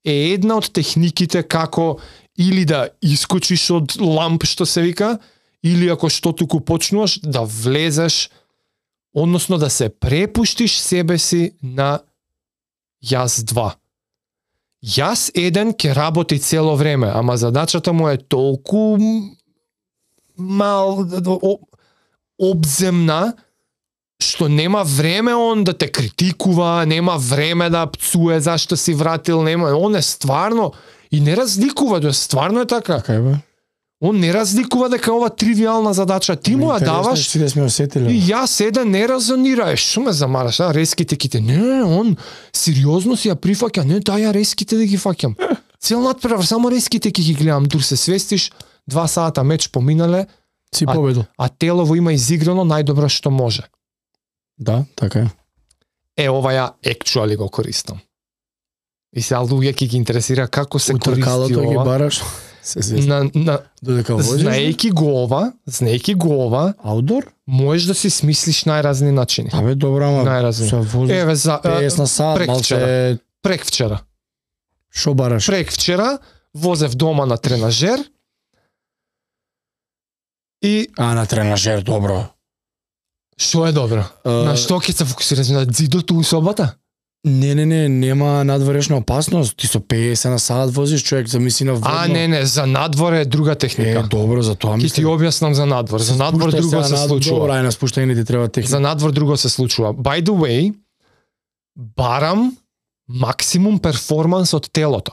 е една од техниките како или да искочиш од ламп, што се вика, или ако што туку почнуваш, да влезеш, односно да се препуштиш себе си на јас 2. Јас 1 ќе работи цело време, ама задачата му е толку обземна, што нема време он да те критикува, нема време да пцуе зашто си вратил, он е стварно и не разликува, тоа стварно е така. Он не разликува дека ова тривијална задача, ти му ја даваш. Да сме осетили. И јас еден не резонира, што ме замараш, резките ките. Не, он сериозно си ја прифаќа, не, дај ја резките да ги фаќам. Цел надпревар само резките ќе ги гледам, дур се свестиш, 2 сата меч поминале. Си победил. А телово има изиграно најдобро што може. Да, така е. Ова ја actually го користам. И сега луѓе ќе ги интересира како се користи ова. Утркалото ги бараш. Додека возиш. Знаејќи го ова, аутдор, можеш да си смислиш најразни начини. Абе добро, ама се возиш. Еве за 50 на сат, малце преквчера. Шо бараш? Преквчера возев дома на тренажер. И на тренажер добро. Што е добро? На што ќе се фокусираш, на зидото у собата? Не, нема надворешна опасност. Ти со 50 на сат возиш, човек замисли на водно. Не, за надвор е друга техника. Добро, за тоа мислам. Ќе ти објаснам за надвор. За надвор друго се случува. Добро, на спуштање ти треба техника. За надвор друго се случува. By the way, барам максимум перформанс од телото.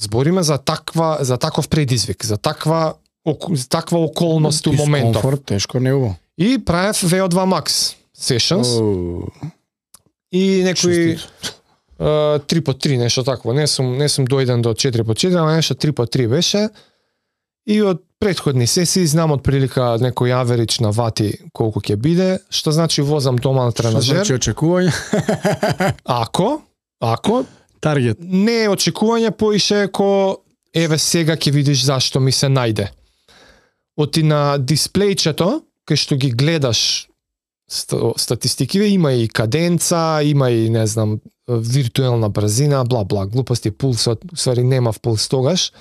Збориме за таков предизвик, за таква околност у моментов. Дискомфорт, тешко неубаво. И правев VO2 Max sessions. И некои 3x3, нешто такво. Не сум дојден до 4x4, ама нешто 3x3 беше. И од претходни сесии знам од прилика некој аверидж на вати колку ќе биде, што значи возам дома на тренажер. Што значи очекување? Ако таргет. Не е очекување, поише ко еве сега ќе видиш зашто ми се најде. Оти на дисплејчето, кај што ги гледаш статистикиве, има и каденца, има и, не знам, виртуелна брзина, бла, глупости, пулсот, ствари немав пулс тогаш.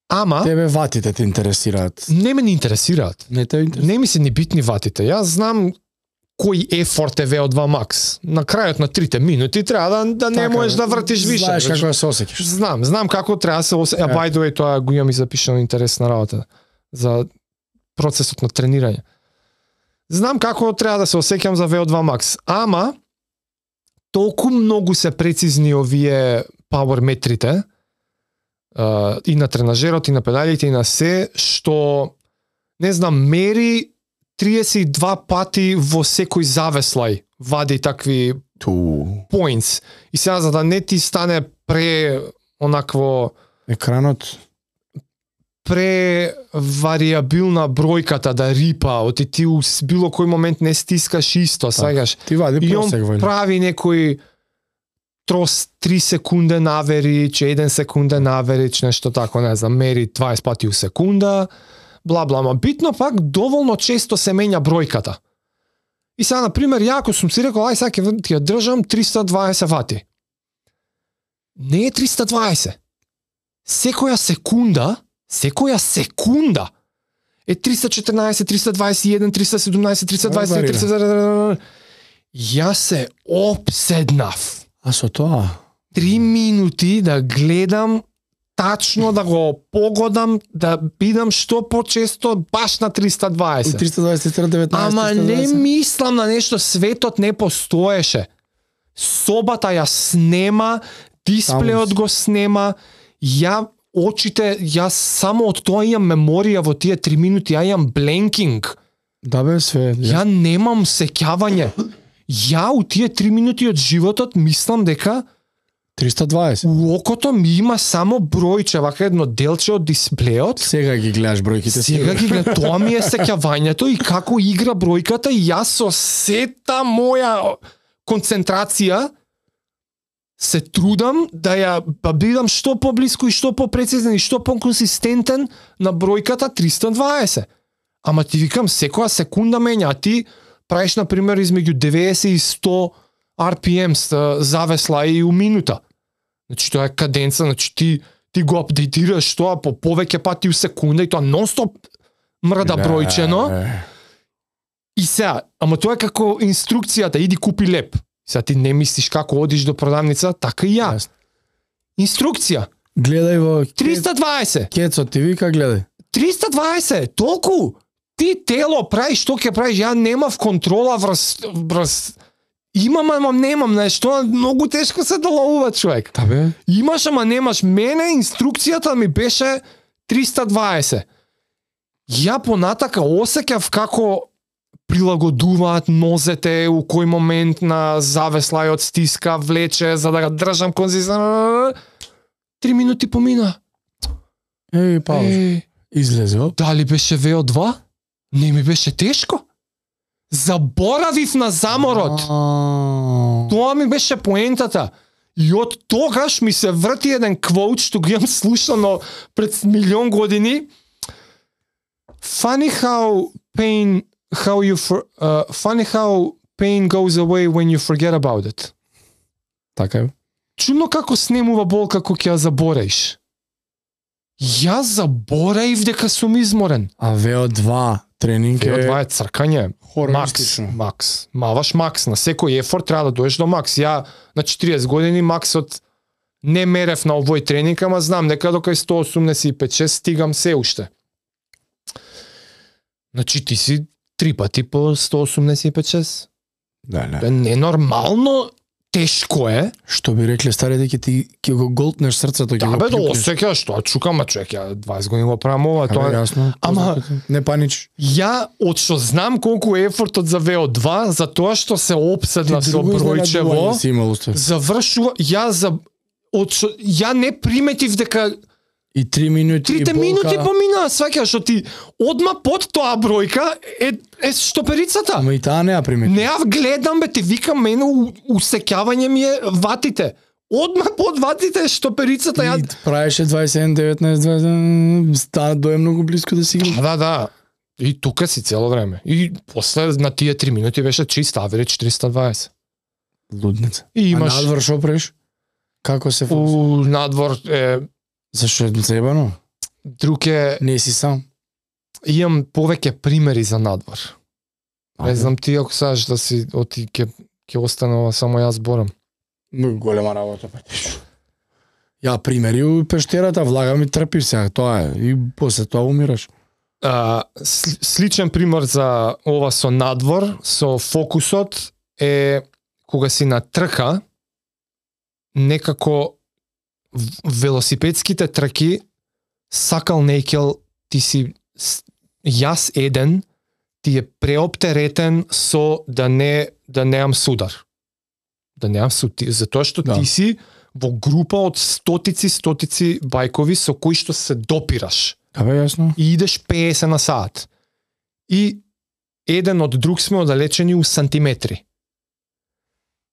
Ама... Тебе ватите те интересираат? Не ме не интересираат. Не ми се ни битни ватите. Јас знам кој ефорт е VO2 Max. На крајот на 3 минути треба да не можеш да вртиш више. Знаеш како да се осеќаш. Знам како треба да се осеќаш. By the way, тоа го имам и запишано интересна работа за процесот на тренирање. Знам како треба да се осеќам за VO2 Max, ама толку многу се прецизни овие power метрите и на тренажерот, и на педалите, и на се, што, не знам, мери 32 пати во секој завеслај, вади такви points. И сега, за да не ти стане онакво... Екранот... вариабилна бројката да рипа, оти ти у било кој момент не стискаш исто, сагаш. Ти вади просек, и он прави некој 3 секунден аверидж, 1 секунден аверидж, нешто тако, не знам, мери 20 пати у секунда, бла, ма битно пак доволно често се менја бројката. И сега, например, ја ако сум си рекол, ај сега ќе ја држам 320 вати. Не е 320. Секоја секунда е 314, 321, 317, 320, 320... Јас се опседнав. А со тоа? 3 минути да гледам тачно, да го погодам, да бидам што почесто баш на 320. 320, 319, Ама 320. Не мислам на нешто, светот не постоеше. Собата ја снема, дисплеот го снема, јас само од тоа имам меморија во тие 3 минути, ја имам бленкинг. Да бе, све. Ја немам сеќавање. Ја у тие 3 минути од животот мислам дека 320. У окото ми има само бројче, вака едно делче од дисплеот. Сега ги гледаш бројките. Сега ги гледам, тоа ми е сеќавањето и како игра бројката и јас со сета моја концентрација се трудам да ја бидам што поблиску и што попрецизен и што поконсистентен на бројката 320. Ама ти викам, секоја секунда менја, а ти правиш, например, измеѓу 90 и 100 RPM завесла и у минута. Значи, тоа е каденца, значи ти го апдейтираш тоа по повеќе пати у секунда и тоа нон-стоп мрда бројчено. И сега, ама тоа е како инструкцијата, иди купи леп. Сега ти не мислиш како одиш до продавница, така и ја. Инструкција. Гледај во 320. Кецо ти вика гледај. 320, толку. Ти тело правиш што ќе правиш, ја немав контрола врз имам, ама немам, нешто многу тешко се доловува човек. Да бе. Имаш, ама немаш. Мене инструкцијата ми беше 320. Ја понатака осеќав како прилагодуваат нозете у кој момент на завеслајот стиска, влече, за да го држам конзистентно. 3 минути помина. Пауз. Излезе. Дали беше VO2? Не ми беше тешко. Заборавив на заморот. Тоа ми беше поентата. И од тогаш ми се врти еден квоут што го имам слушано пред милион години. Funny how pain goes away when you forget about it. Така е. Чудно како снемува болка кога ќе ја забораиш. Јас забораив дека сум изморен. А VO2 тренинг VO2 е цркање. Макс. Маваш макс. На секој ефорт треба да доеш до макс. Ја на 40 години максот не мерев на овој тренинг, ама знам дека до кај 185-6 стигам се уште. Значи ти си 3 пати по 185-6. Да. Ненормално тешко е. Што би рекле старите ќе го голтнеш срцето, ќе да, го бе, да осеќаш, тоа чукам, човек, ја 20 години го правам ова, тоа е јасно. Ама не панич. Ја од што знам колку е ефортот за VO2, за тоа што се опседна со бројчево, завршува, ја не приметив дека и 3 минути 3 минути помина, сваќаш, што ти одма под тоа бројка е штоперицата. Ама и таа не ја примети. Не ја гледам, бе, ти викам, мене усеќавање ми е ватите. Одма под ватите е штоперицата. И правеше 27-19, стана дое многу близко да си игра. Да. И тука си цело време. И после на тие 3 минути беше чист аверидж 420. Лудница. И имаш... А надвор шо правиш? Како се фокусираш? Надвор е... Зашо е заебано? Друг е... Не си сам. Имам повеќе примери за надвор. Не знам ти ако саш да си оти ќе останува само јас зборам. Многу голема работа па. Ја примери у пештерата, влага ми трпиш сега, тоа е. И после тоа умираш. Сличен пример за ова со надвор, со фокусот е кога си на трка, некако велосипедските траки сакал нејкел, ти си јас еден, ти е преоптеретен со да неам судар. Да неам судар, затоа што ти си во група од стотици бајкови со кои што се допираш. Абе, јасно. И идеш 50 на саат. И еден од друг сме оддалечени у сантиметри.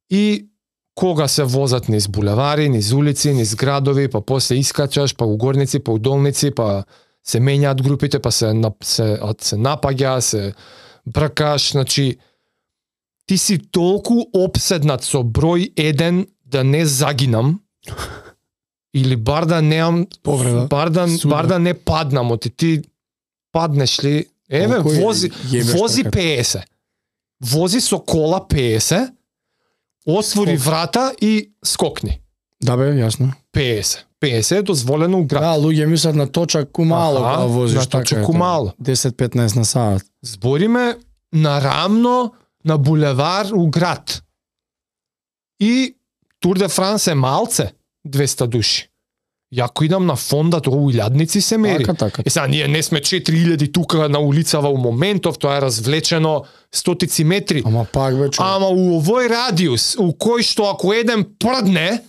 И кога се возат низ булевари, низ улици, низ градови, па после искачаш, па у горници, па у долници, па се менјаат групите, па се напаѓа, се бркаш, значи ти си толку опседнат со број 1 да не загинам или бар да неам повреда, бар да не паднам, оти ти паднеш ли, еве вози 50. Вози со кола 50. Отвори врата и скокни. Да бе, јасно. 50 е дозволено у град. Да, луѓе мислат на точак умало кога возиш, на точак умало. 10-15 на саат. Збориме нарамно на булевар у град. И Тур де Франс е малце, 200 души. Јако идам на фонда, тоа у илјадници се мери. Така. Сега ние не сме 4000 тука на улицава у моментов, тоа е развлечено стотици метри. Ама пак бе, Ама у овој радиус, у кој што ако еден прдне,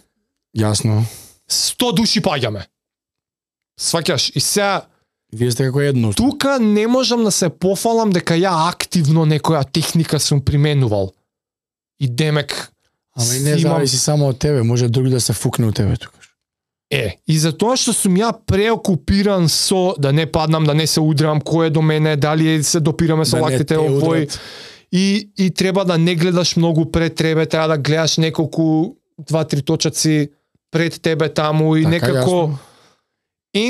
јасно, 100 души паѓаме. Сваќаш, и сега вие сте како едно. Тука не можам да се пофалам дека ја активно некоја техника сум применувал. И демек ама и не зависи само од тебе, може друг да се фукне у тебе тука. И за тоа што сум ја преокупиран со да не паднам, да не се удрам, кој е до мене, дали се допираме со лактите овој. И треба да не гледаш многу пред тебе, треба да гледаш неколку 2-3 точаци пред тебе таму и така, некако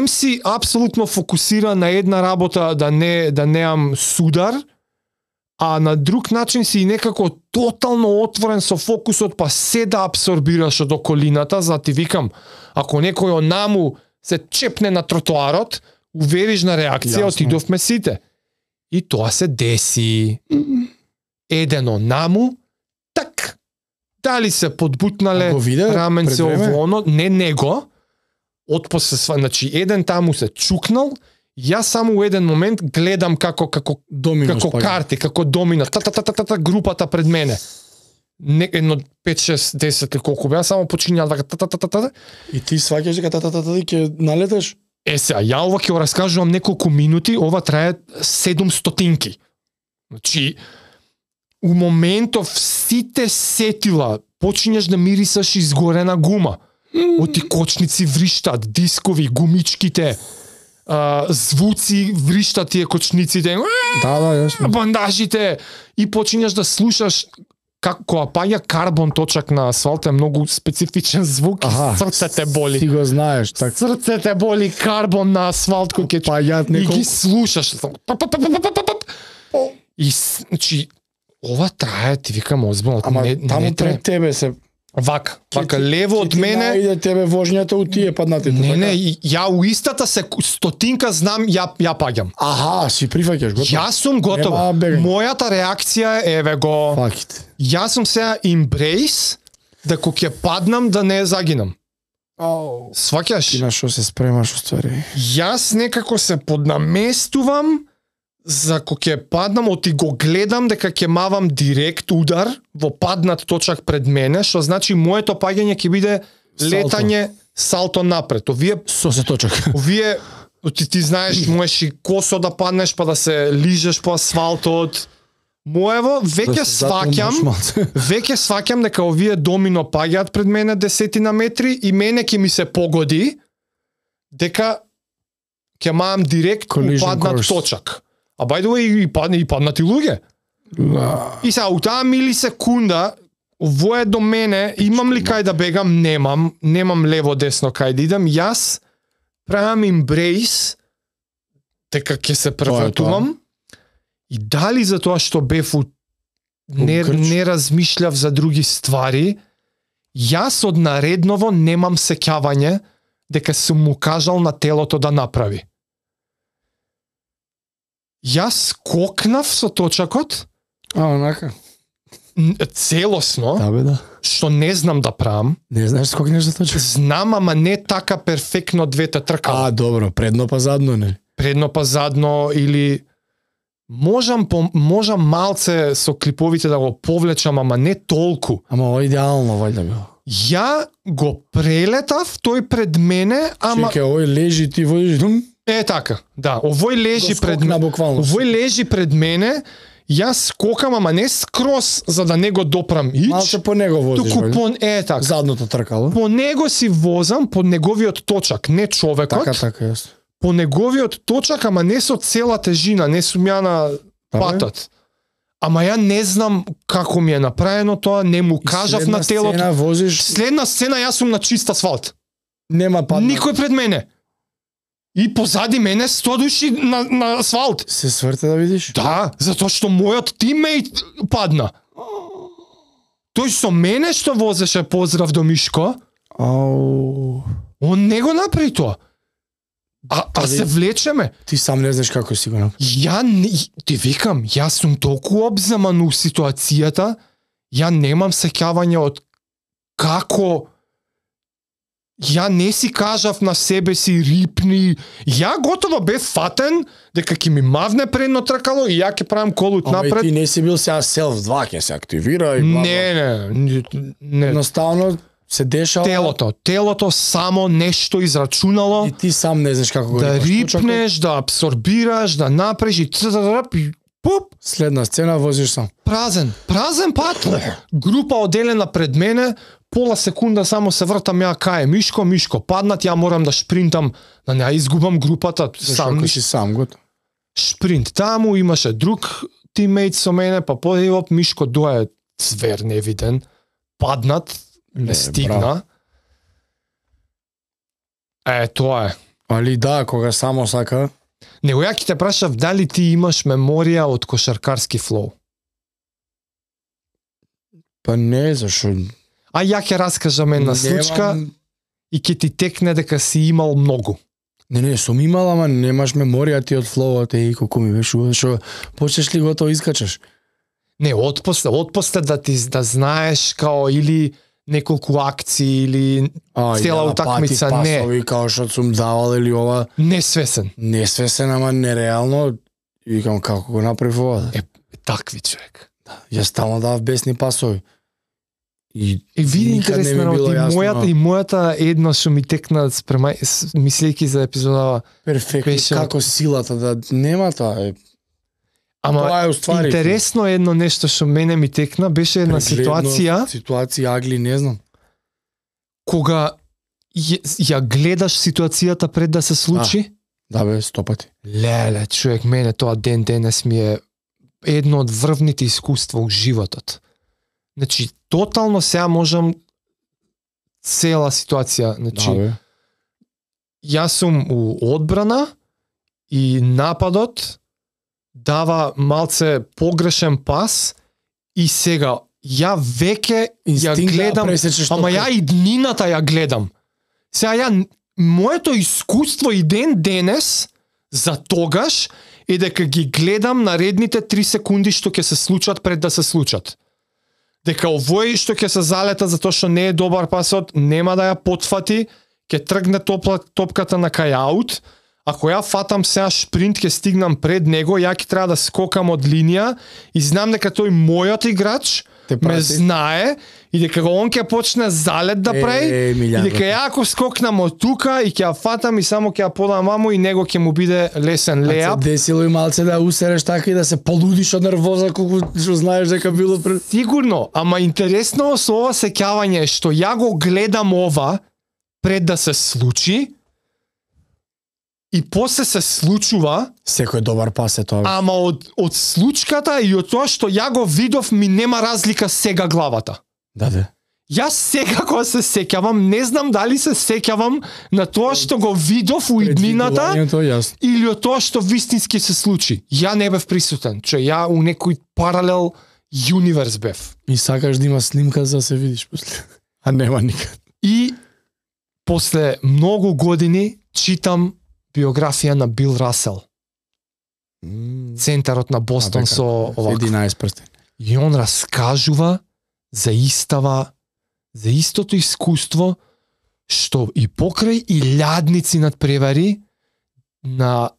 си апсолутно фокусиран на една работа да неам судар, а на друг начин си некако тотално отворен со фокусот, па се да абсорбираш од околината, за ти викам, ако некој онаму се чепне на тротоарот, увериш на реакција, отидовме сите. И тоа се деси. Еден онаму, так, дали се подбутнале раменце ово, не него, отпосле, значи еден таму се чукнал, јас само у еден момент гледам како карти, како домино, групата пред мене. Едно 5-6-10 или колку беа, само почиња така. И ти сваќаш дека и ќе налеташ? Сега, ја ова ќе го раскажувам неколку минути, ова трае 700. Значи, у моментов сите сетила почињаш да мирисаш изгорена гума. Оти кочници вриштат, дискови, гумичките, звуци вриштат тие кочниците. Јасно. Бандажите и почињаш да слушаш како паѓа карбон точак на асфалт е многу специфичен звук и срце те боли. Ти го знаеш, така. Срце те боли карбон на асфалт кој ќе паѓаат и ги слушаш. И значи ова трае, ти викам озбилно. Ама таму пред тебе се вака лево од мене. Најде тебе вожњата у тие паднатите. Не, ја у истата стотинка знам ја паѓам. Аха, си прифаќаш готово. Јас сум готова. Мојата реакција еве го. Факт. Јас сум сега embrace да кога ќе паднам да не загинам. Сваќаш? Ти на што се спремаш уствари? Јас некако се поднаместувам за кога ќе паднам, оти го гледам дека ќе мавам директ удар во паднат точак пред мене, што значи моето паѓање ќе биде летање салто напред. Овие со се точак. Овие ти знаеш, можеш и косо да паднеш па да се лижеш по асфалтот. Моево веќе сваќам дека овие домино паѓаат пред мене десетина метри и мене ќе ми се погоди дека ќе мавам директ паднат точак. А by the way, и паднати луѓе. И сега, у таа милисекунда, во е до мене, имам ли кај да бегам? Немам лево-десно кај да идам. Јас правам embrace, дека ќе се превратувам. И дали за тоа што бев не размишљав за други ствари, јас од наредново немам сеќавање дека сум му кажал на телото да направи. Јас скокнав со точакот. Онака. Целосно. Да бе, да. Што не знам да правам. Не знаеш скокнеш за точак? Знам, ама не така перфектно двете тркала. Добро, предно па задно, не? Предно па задно или можам малце со клиповите да го повлечам, ама не толку. Ама ова идеално вајда било. Ја го прелетав, тој пред мене, ама чекај, овој лежи, ти водиш дум? Така, да, овој лежи пред мене. Овој лежи пред мене, јас скокам, ама не скрос за да не го допрам ич. Малце по него возиш, така. Задното тркало. По него си возам, по неговиот точак, не човекот. Така, јас. По неговиот точак, ама не со цела тежина, не сум ја на патот. Ама ја не знам како ми е направено тоа, не му кажав на телото. Следна сцена јас сум на чист асфалт. Нема падна. Никој пред мене. И позади мене 100 души на асфалт. Се сврте да видиш? Да, затоа што мојот тиммейт падна. Тој со мене што возеше, поздрав до Мишко. Он не го направи тоа. А се влечеме. Ти сам не знаеш како си го направи. Ти викам, јас сум толку обземан у ситуацијата, ја немам сеќавање од како. Ја не си кажав на себе си рипни. Ја готово бев фатен дека ќе ми мавне предно тркало и ја ќе правам колут напред. Ама ти не си бил сега селф 2, ќе се активира и бла. Не. Едноставно се дешава. Телото само нешто израчунало. И ти сам не знаеш како го да рипнеш, да абсорбираш, да направиш и пуп. Следна сцена возиш сам. Празен пат. Група оделена пред мене, пола секунда само се вртам ја кај Мишко, паднат, ја морам да шпринтам, да не изгубам групата. Сам готов. Шпринт таму, имаше друг тиммейт со мене, па подивоп Мишко дое звер невиден, паднат, не стигна. Тоа е. Али да, кога само сака. Него ја ќе те прашав дали ти имаш меморија од кошаркарски флоу. Па не, зашо? А ја ќе раскажам една случка и ќе ти текне дека си имал многу. Не, сум имал, ама немаш меморија ти од флоуот и колку ми беше, што почнеш ли готово искачаш? Не, отпосле да знаеш као или неколку акции или цела утакмица, не. Пасови као што сум давал или ова. Несвесен, ама нереално. И викам како го направив ова. Такви човек. Ја стално давав бесни пасови. И види интересно, и мојата едно што ми текна мислејќи за епизодава. Перфектно, како силата да нема тоа. Тоа е уствари. Интересно едно нешто што мене ми текна, беше една ситуација, агли, не знам. Кога ја гледаш ситуацијата пред да се случи? Да бе, 100 пати. Леле, човек, мене тоа ден денес ми е едно од врвните искуства у животот. Значи, тотално сега можам цела ситуација, значи, јас сум у одбрана и нападот дава малце погрешен пас и сега ја веќе ја гледам, ама ја и днината ја гледам. Сега ја моето искуство и ден денес за тогаш е дека ги гледам наредните 3 секунди што ќе се случат пред да се случат. Дека овој што ќе се залета затоа што не е добар пасот, нема да ја потфати, ќе тргне топката на кај аут. Ако ја фатам сега шпринт, ќе стигнам пред него, ја ќе треба да скокам од линија и знам дека тој мојот играч ме знае и дека он ќе почне залет да прави и дека ја ако скокнам од тука и ќе ја фатам и само ќе ја подам мамо и него ќе му биде лесен леап. Десило и малце да усереш така и да се полудиш од нервоза колку што знаеш дека било пред... Сигурно, ама интересно со ова сеќавање е што ја го гледам ова пред да се случи и после се случува. Секој добар пас е тоа. Ама од случката и од тоа што ја го видов ми нема разлика сега главата. Да. Јас сега кога се сеќавам, не знам дали се сеќавам на тоа што го видов у иднината или од тоа што вистински се случи. Ја не бев присутен, че ја у некој паралел юниверс бев. И сакаш да има снимка за да се видиш после. А нема никад. И после многу години читам биографија на Бил Расел. Центарот на Бостон со овако. 11 прстени. И он раскажува за истото искуство што и покрај илјадници надпревари на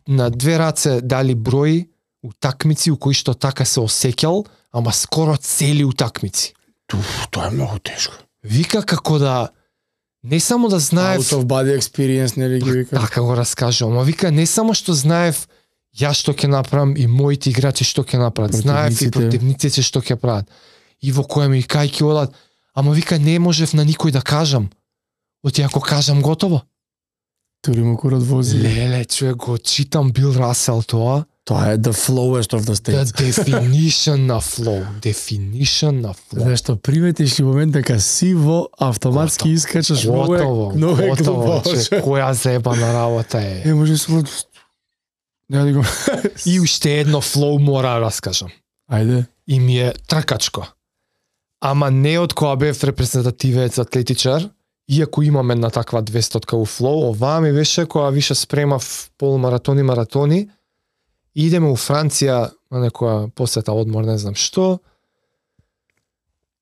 2 раце дали број утакмици у кои што така се осеќал, ама скоро цели утакмици. Тоа е многу тешко. Вика како да не само да знаев out of body experience, нели ги вика. Така го раскажувам, ама вика не само што знаев ја што ќе направам и моите играчи што ќе направат, знаев и противниците што ќе прават. И во која ми кај ќе одат, ама вика не можев на никој да кажам. Оти ако кажам готово. Тури му курат вози. Леле, човек го читам Бил Расел тоа. Тоа е the flowest of the states. The definition на flow. Definition на flow. Зашто приметиш ли момент дека си во автоматски искачаш готово. Која заебана работа е. Може се не да го. И уште едно flow мора да раскажам. Ајде. И ми е тркачко. Ама не од која бев репрезентативец атлетичар, иако имам една таква 200-ка у флоу, оваа ми беше која више спремав полумаратони, маратони. Идеме у Франција на некоја посета, одмор, не знам што.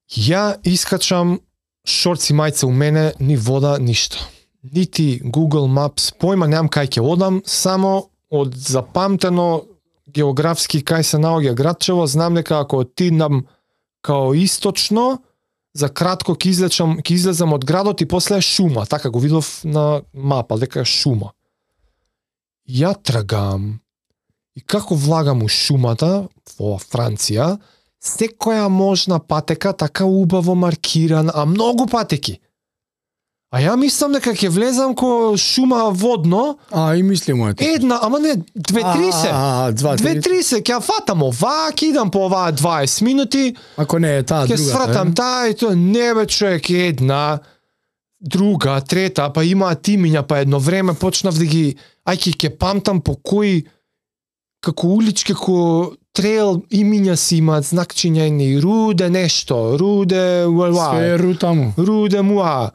Ја искачам шорци мајца у мене, ни вода, ништо. Нити Google Maps, појма немам кај ќе одам, само од запамтено географски кај се наоѓа градчево, знам дека ако отидам као источно, за кратко ќе излезам од градот и после е шума, така го видов на мапа, дека е шума. Ја тргам и како влагам у шумата во Франција, секоја можна патека така убаво маркиран, а многу патеки. А ја мислам дека ќе влезам ко шума водно. И мислимо ето. Една, ама не, 2-3 се. 2-3 се, ќе фатам оваа, ќе идам по оваа 20 минути. Ако не е таа друга. Ќе свратам таа и тоа, не бе човек, една, друга, трета, па имаат имиња, па едно време почнав да ги, ќе памтам по кои, како улички, како трейл имиња си имаат знакчиња и Руде нешто, Руде, Све рутаму. Руде муа.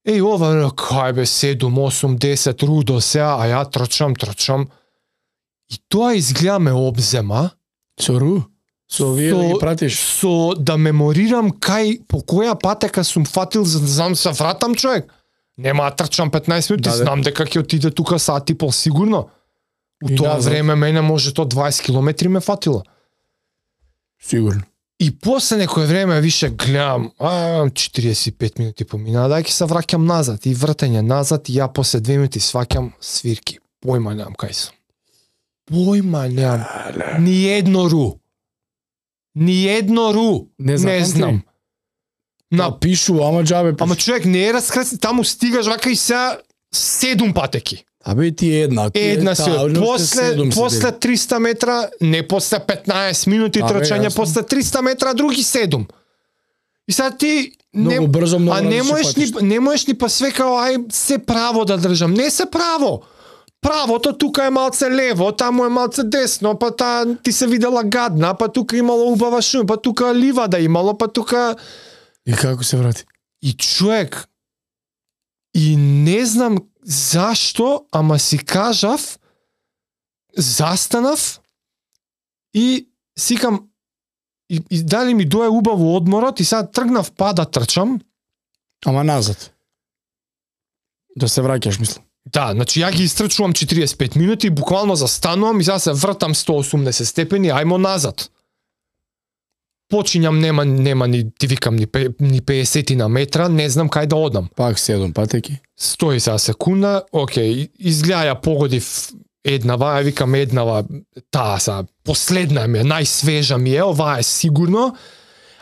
Ова, кај бе, 7, 8, 10 рудо сеа, а ја трчам. И тоа изгледа ме обзема. Со ру? Со овие да ги пратиш? Со да меморирам по која патека сум фатил, за да знам се вратам човек. Нема да трчам 15 минути, знам дека ќе отиде тука сат и пол сигурно. У тоа време мене може то 20 километри ме фатило. Сигурно. И после некој време више гледам, 45 минути помина, дај ќе се враќам назад и вртење назад и ја после 2 минути сваќам свирки. Појма немам кај сум. Појма немам. Ни едно ру. Не знам. Напишу, ама џабе пишу. Ама човек не е раскресен, таму стигаш вака и сега 7 патеки. Абе ти една. Една си. После 300 метра, не после 15 минути трчање, после 300 метра други 7. И сега ти многу брзо, многу не можеш ни па све као ај се право да држам. Не се право. Правото тука е малце лево, таму е малце десно, па ти се видела гадна, па тука имало убава шум, па тука ливада имало, па тука... И како се врати? И човек, и не знам зашто, ама си кажав, застанав и сикам, и дали ми дое убаво одморот и сега тргнав па да трчам. Ама назад. Да се враќаш, мислам. Да, значи ја ги истрчувам 45 минути, буквално застанувам и сега се вртам 180 степени, ајмо назад. Почињам, нема ни, ти викам, ни 50 на метра, не знам кај да одам. Пак 7 патеки. Стои сега секунда, окей, изгледа ја погодив еднава, ја викам еднава, таа сега, последна ми е, најсвежа ми е, ова е сигурно,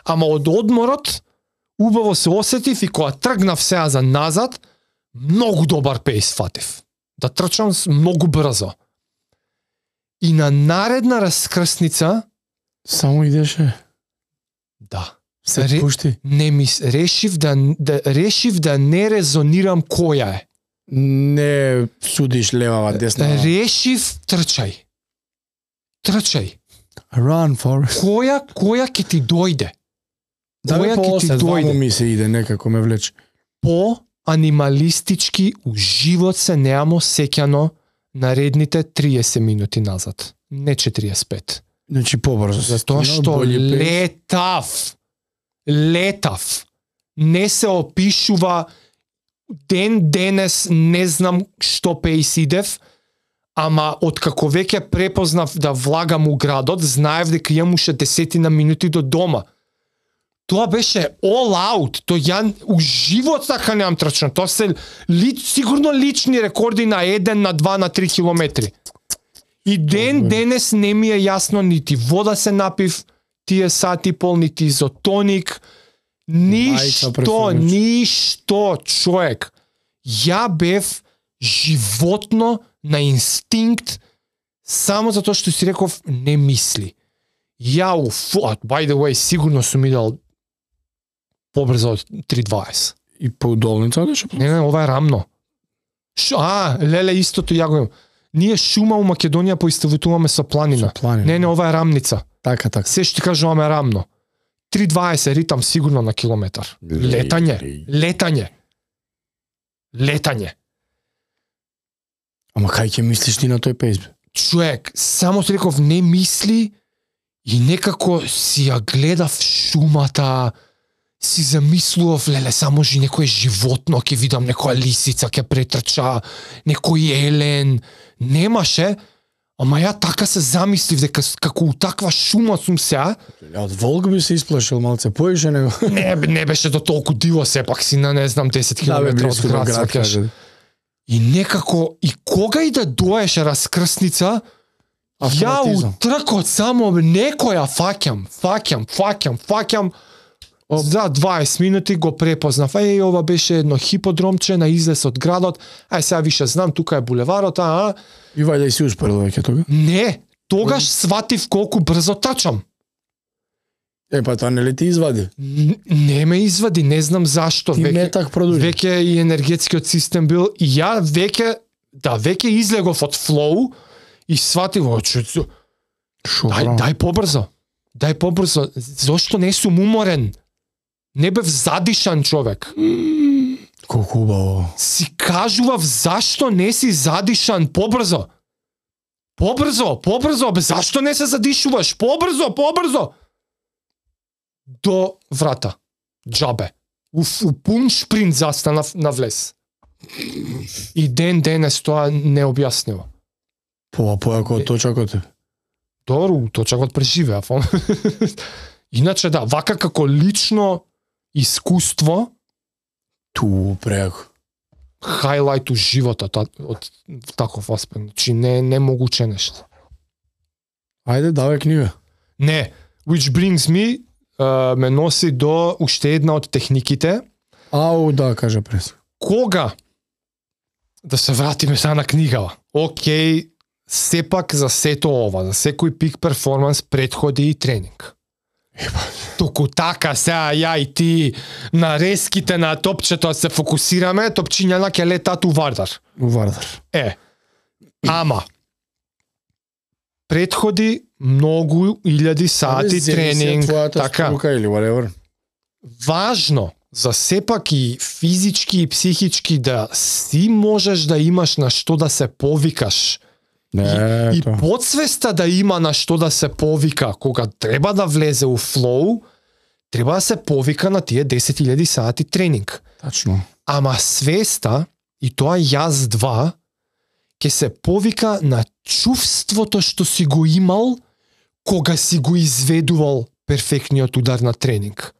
ама од одморот, убаво се осетив и кога тргнав сега за назад, многу добар пејс фатив. Да трчам многу брзо. И на наредна раскрсница... Само идеше? Да. Се пушти? Решив да не резонирам која е. Не судиш левава, десна. Решив трчај. Run, Forrest. Која ќе ти дојде? Да ме по-осет, вамо ми се иде, некако ме влече. По-анималистички у живот се неамо сеќано наредните 30 минути назад. Не 45. Значи побрзо. Затоа што летав. Не се опишува денес не знам што пејс идев, ама откако веќе препознав да влагам у градот, знаев дека имам уште 10 минути до дома. Тоа беше all out. Тоа ја у живот така немам трчано. Тоа се сигурно лични рекорди на 1, на 2, на 3 километри. И денес не ми е јасно, нити вода се напив, тие сати пол, нити изотоник, ништо, човек. Ја бев животно на инстинкт, само затоа што си реков, не мисли. Ја by the way, сигурно сум идел побрзо од 3:20. И по удолница беше? Не, ова е рамно. Леле, истото ја го имам. Ние шума у Македонија поиставутуваме со планина. Не, ова е рамница. Така. Се што ти кажуваме рамно. 3:20 ритам сигурно на километар. Летање. Ама кај ќе мислиш ти на тој пејс? Човек, само ти реков не мисли и некако си ја гледав шумата, си замислував, леле, само некој животно, ќе видам некоја лисица, ќе претрча, некој елен, немаше, ама ја така се замислив дека како у таква шума сум сега. Од волк би се исплашил малце поише него. Не беше до толку диво, сепак си на не знам 10 километра од град. И некако, и кога и да доеше раскрсница, ја у тркот само некоја фаќам, за 20 минути го препознав. Ова беше едно хиподромче на излез од градот. Сега више знам, тука е булеварот, И вајде си успорил веќе тога? Не, тогаш сватив колку брзо трчам. Па тоа не ли ти извади? Не ме извади, не знам зашто. Ти метак продужи. Веќе и енергетскиот систем бил, и ја веќе излегов од флоу и сватив, дај побрзо. Зошто не сум уморен? Не бев задишан човек. Колку убаво. Си кажував зашто не си задишан побрзо. Бе, зашто не се задишуваш? Побрзо. До врата. Џабе. У пун шпринт застанав на влез. И денес тоа необјаснимо. Појако од точакот. Добро, точакот преживеа. Иначе да, вака како лично искуство, ту преако. Хайлайт у животот од таков аспект. Значи не могуче нешто. Ајде, давај книга. Не, which brings me ме носи до уште една од техниките. Да, кажа прес. Кога да се вратиме сега на книгава. Океј, сепак за сето ова, за секој пик перформанс предходи и тренинг. Току така сега ја и ти на резките на топчето се фокусираме, топчињана ќе летат у Вардар. Ама предходи многу илјади сати тренинг, така. Или whatever. Важно за сепак и физички и психички да си можеш да имаш на што да се повикаш. И подсвеста да има на што да се повика кога треба да влезе у флоу, треба да се повика на тие 10.000 сати тренинг. Тачно. Ама свеста, и тоа јас 2, ќе се повика на чувството што си го имал кога си го изведувал перфектниот удар на тренинг.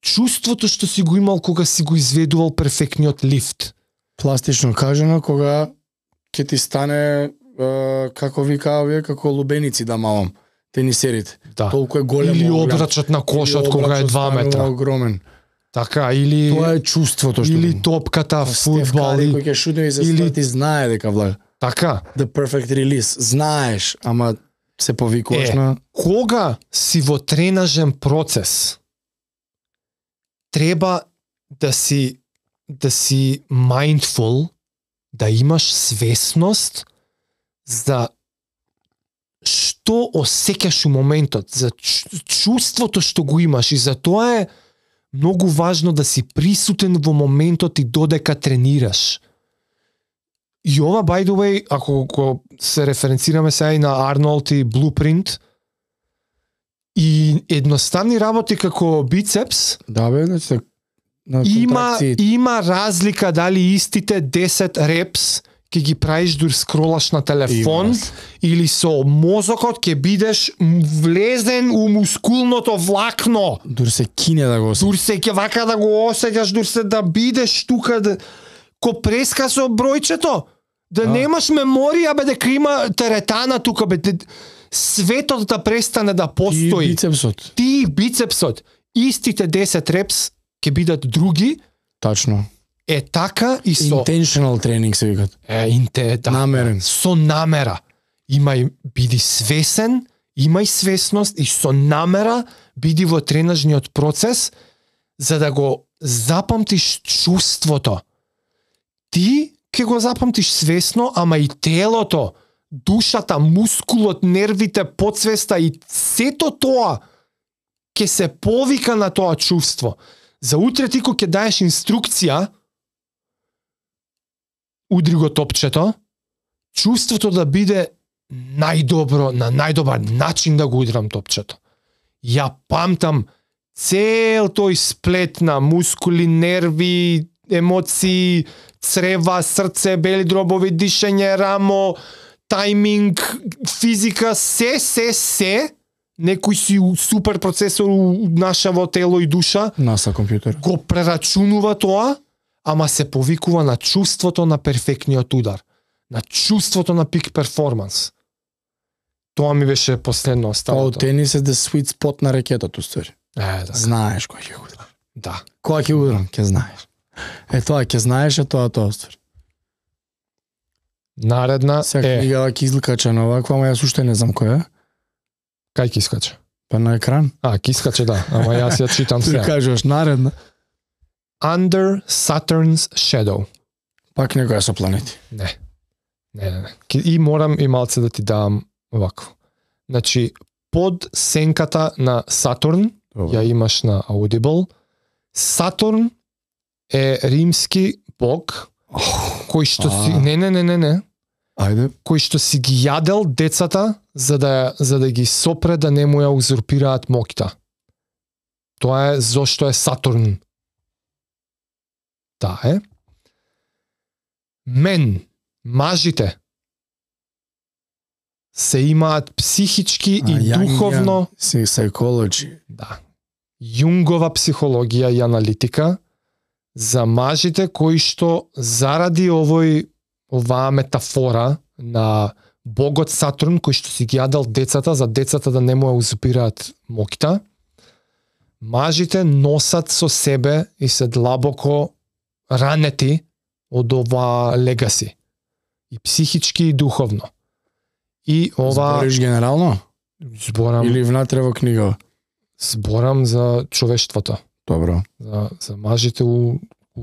Чувството што си го имал кога си го изведувал перфектниот лифт. Пластично кажано, кога ќе ти стане како вика овие, како лубеници да малам, тенисерите. Да. Толку е голем. Или обрачот на кошот кога е 2 метра. Огромен. Така, или тоа е чувството што. Или топката фудбал, кој ќе шутне и се ти знае дека влага. Така. The perfect release. Знаеш, ама се повикуваш на... Кога си во тренажен процес, треба да си mindful, да имаш свесност за што осеќаш у моментот, за чувството што го имаш, и за тоа е многу важно да си присутен во моментот и додека тренираш. И ова, by the way, ако се референцираме сега и на Арнолд и Blueprint, и едноставни работи како бицепс, да бе, има разлика дали истите 10 репс ќе ги правиш дур скролаш на телефон, или со мозокот ќе бидеш влезен у мускулното влакно. Дур се кине да го осеќаш. Дур се ќе вака да го осеќаш, дур се да бидеш тука, ко преска со бројчето. Да немаш меморија, бе, дека има теретана тука, бе, светот да престане да постои. Ти бицепсот. Истите 10 репс ќе бидат други. Тачно. Така и со... Intentional тренинг се викат. Да, намерен. Со намера. Биди свесен, имај свесност и со намера биди во тренажниот процес за да го запамтиш чувството. Ти ќе го запамтиш свесно, ама и телото, душата, мускулот, нервите, подсвеста и сето тоа ќе се повика на тоа чувство. За утре ти кога ќе даеш инструкција, удри го топчето, чувството да биде најдобро, на најдобар начин да го удрам топчето. Ја памтам цел тој сплет на мускули, нерви, емоции, црева, срце, бели дробови, дишење, рамо, тајминг, физика, се, некој си супер процесор нашаво тело и душа, NASA компјутер, го прерачунува тоа, ама се повикува на чувството на перфектниот удар, на чувството на пик перформанс. Тоа ми беше последно оставото. Тоа тенис е the sweet spot на ракетата, уствари. Да. Знаеш кој ќе удрам. Да. Кој ќе удрам, ќе знаеш. Тоа ќе знаеш, тоа уствари. Наредна сега книгава ќе излкача на оваква, ама јас уште не знам која е. Кај ќе искача? Па на екран. Ќе искача, да. Ама јас ја читам сега. Ти кажеш наредна. Under Saturn's Shadow. Пак некоја со планети. Не. И морам и малце да ти дам овакво. Значи, под сенката на Сатурн, ја имаш на Audible. Сатурн е римски бог, кој што си... Не. Ајде. Кој што си ги јадел децата за да ги сопре да не му ја узурпираат моќта. Тоа е зошто е Сатурн. Таа е. Мажите се имаат психички и духовно... Psychology. Да. Јунгова психологија и аналитика за мажите кои што заради оваа метафора на богот Сатурн кој што си ги јадал децата за децата да не му ја узурпираат моќта. Мажите носат со себе и се длабоко ранети од ова легаси. И психички и духовно. И ова... Збориш генерално? Зборам... Или внатре во книга? Зборам за човештвото. Добро. За мажите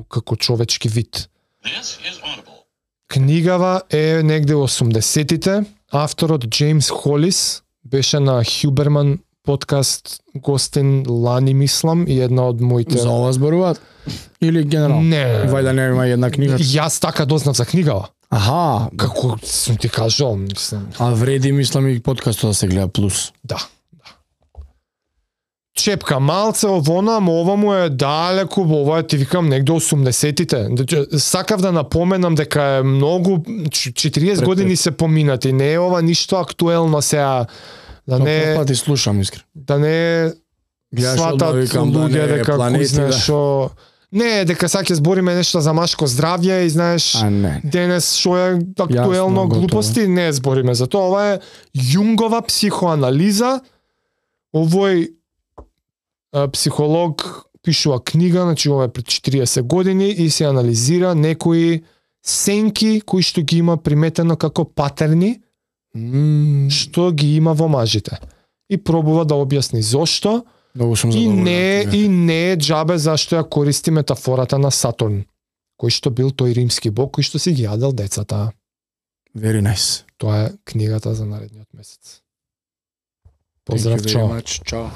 како човечки вид. Книгава е негде во 80-тите. Авторот Джеймс Холис беше на Хюберман подкаст гостин лани мислам и една од моите... За ова зборуваат? Или генерално? Не. Вајда не има една книга? Јас така дознав за книгава. Аха. Како сум ти кажал, мислам. А вреди мислам и подкастот да се гледа плюс. Да. Чепка малце овона, ама ова му е далеку, ова е, ти викам, негде 80-тите. Сакав да напоменам дека е многу, 40 години се поминати, не е ова ништо актуелно сега. Да не пати слушам искрено. Да не сватат луѓе дека кој знаеш шо... Не, дека сега ќе збориме нешто за машко здравје и знаеш денес шо е актуелно Јасно, глупости, не збориме за тоа. Ова е Јунгова психоанализа. Овој психолог пишува книга, значи ова е пред 40 години и се анализира некои сенки кои што ги има приметено како патерни, што ги има во мажите. И пробува да објасни зошто. И не е џабе зашто ја користи метафората на Сатурн, кој што бил тој римски бог кој што си ги јадел децата. Very nice. Тоа е книгата за наредниот месец. Поздрав, чао. Чао.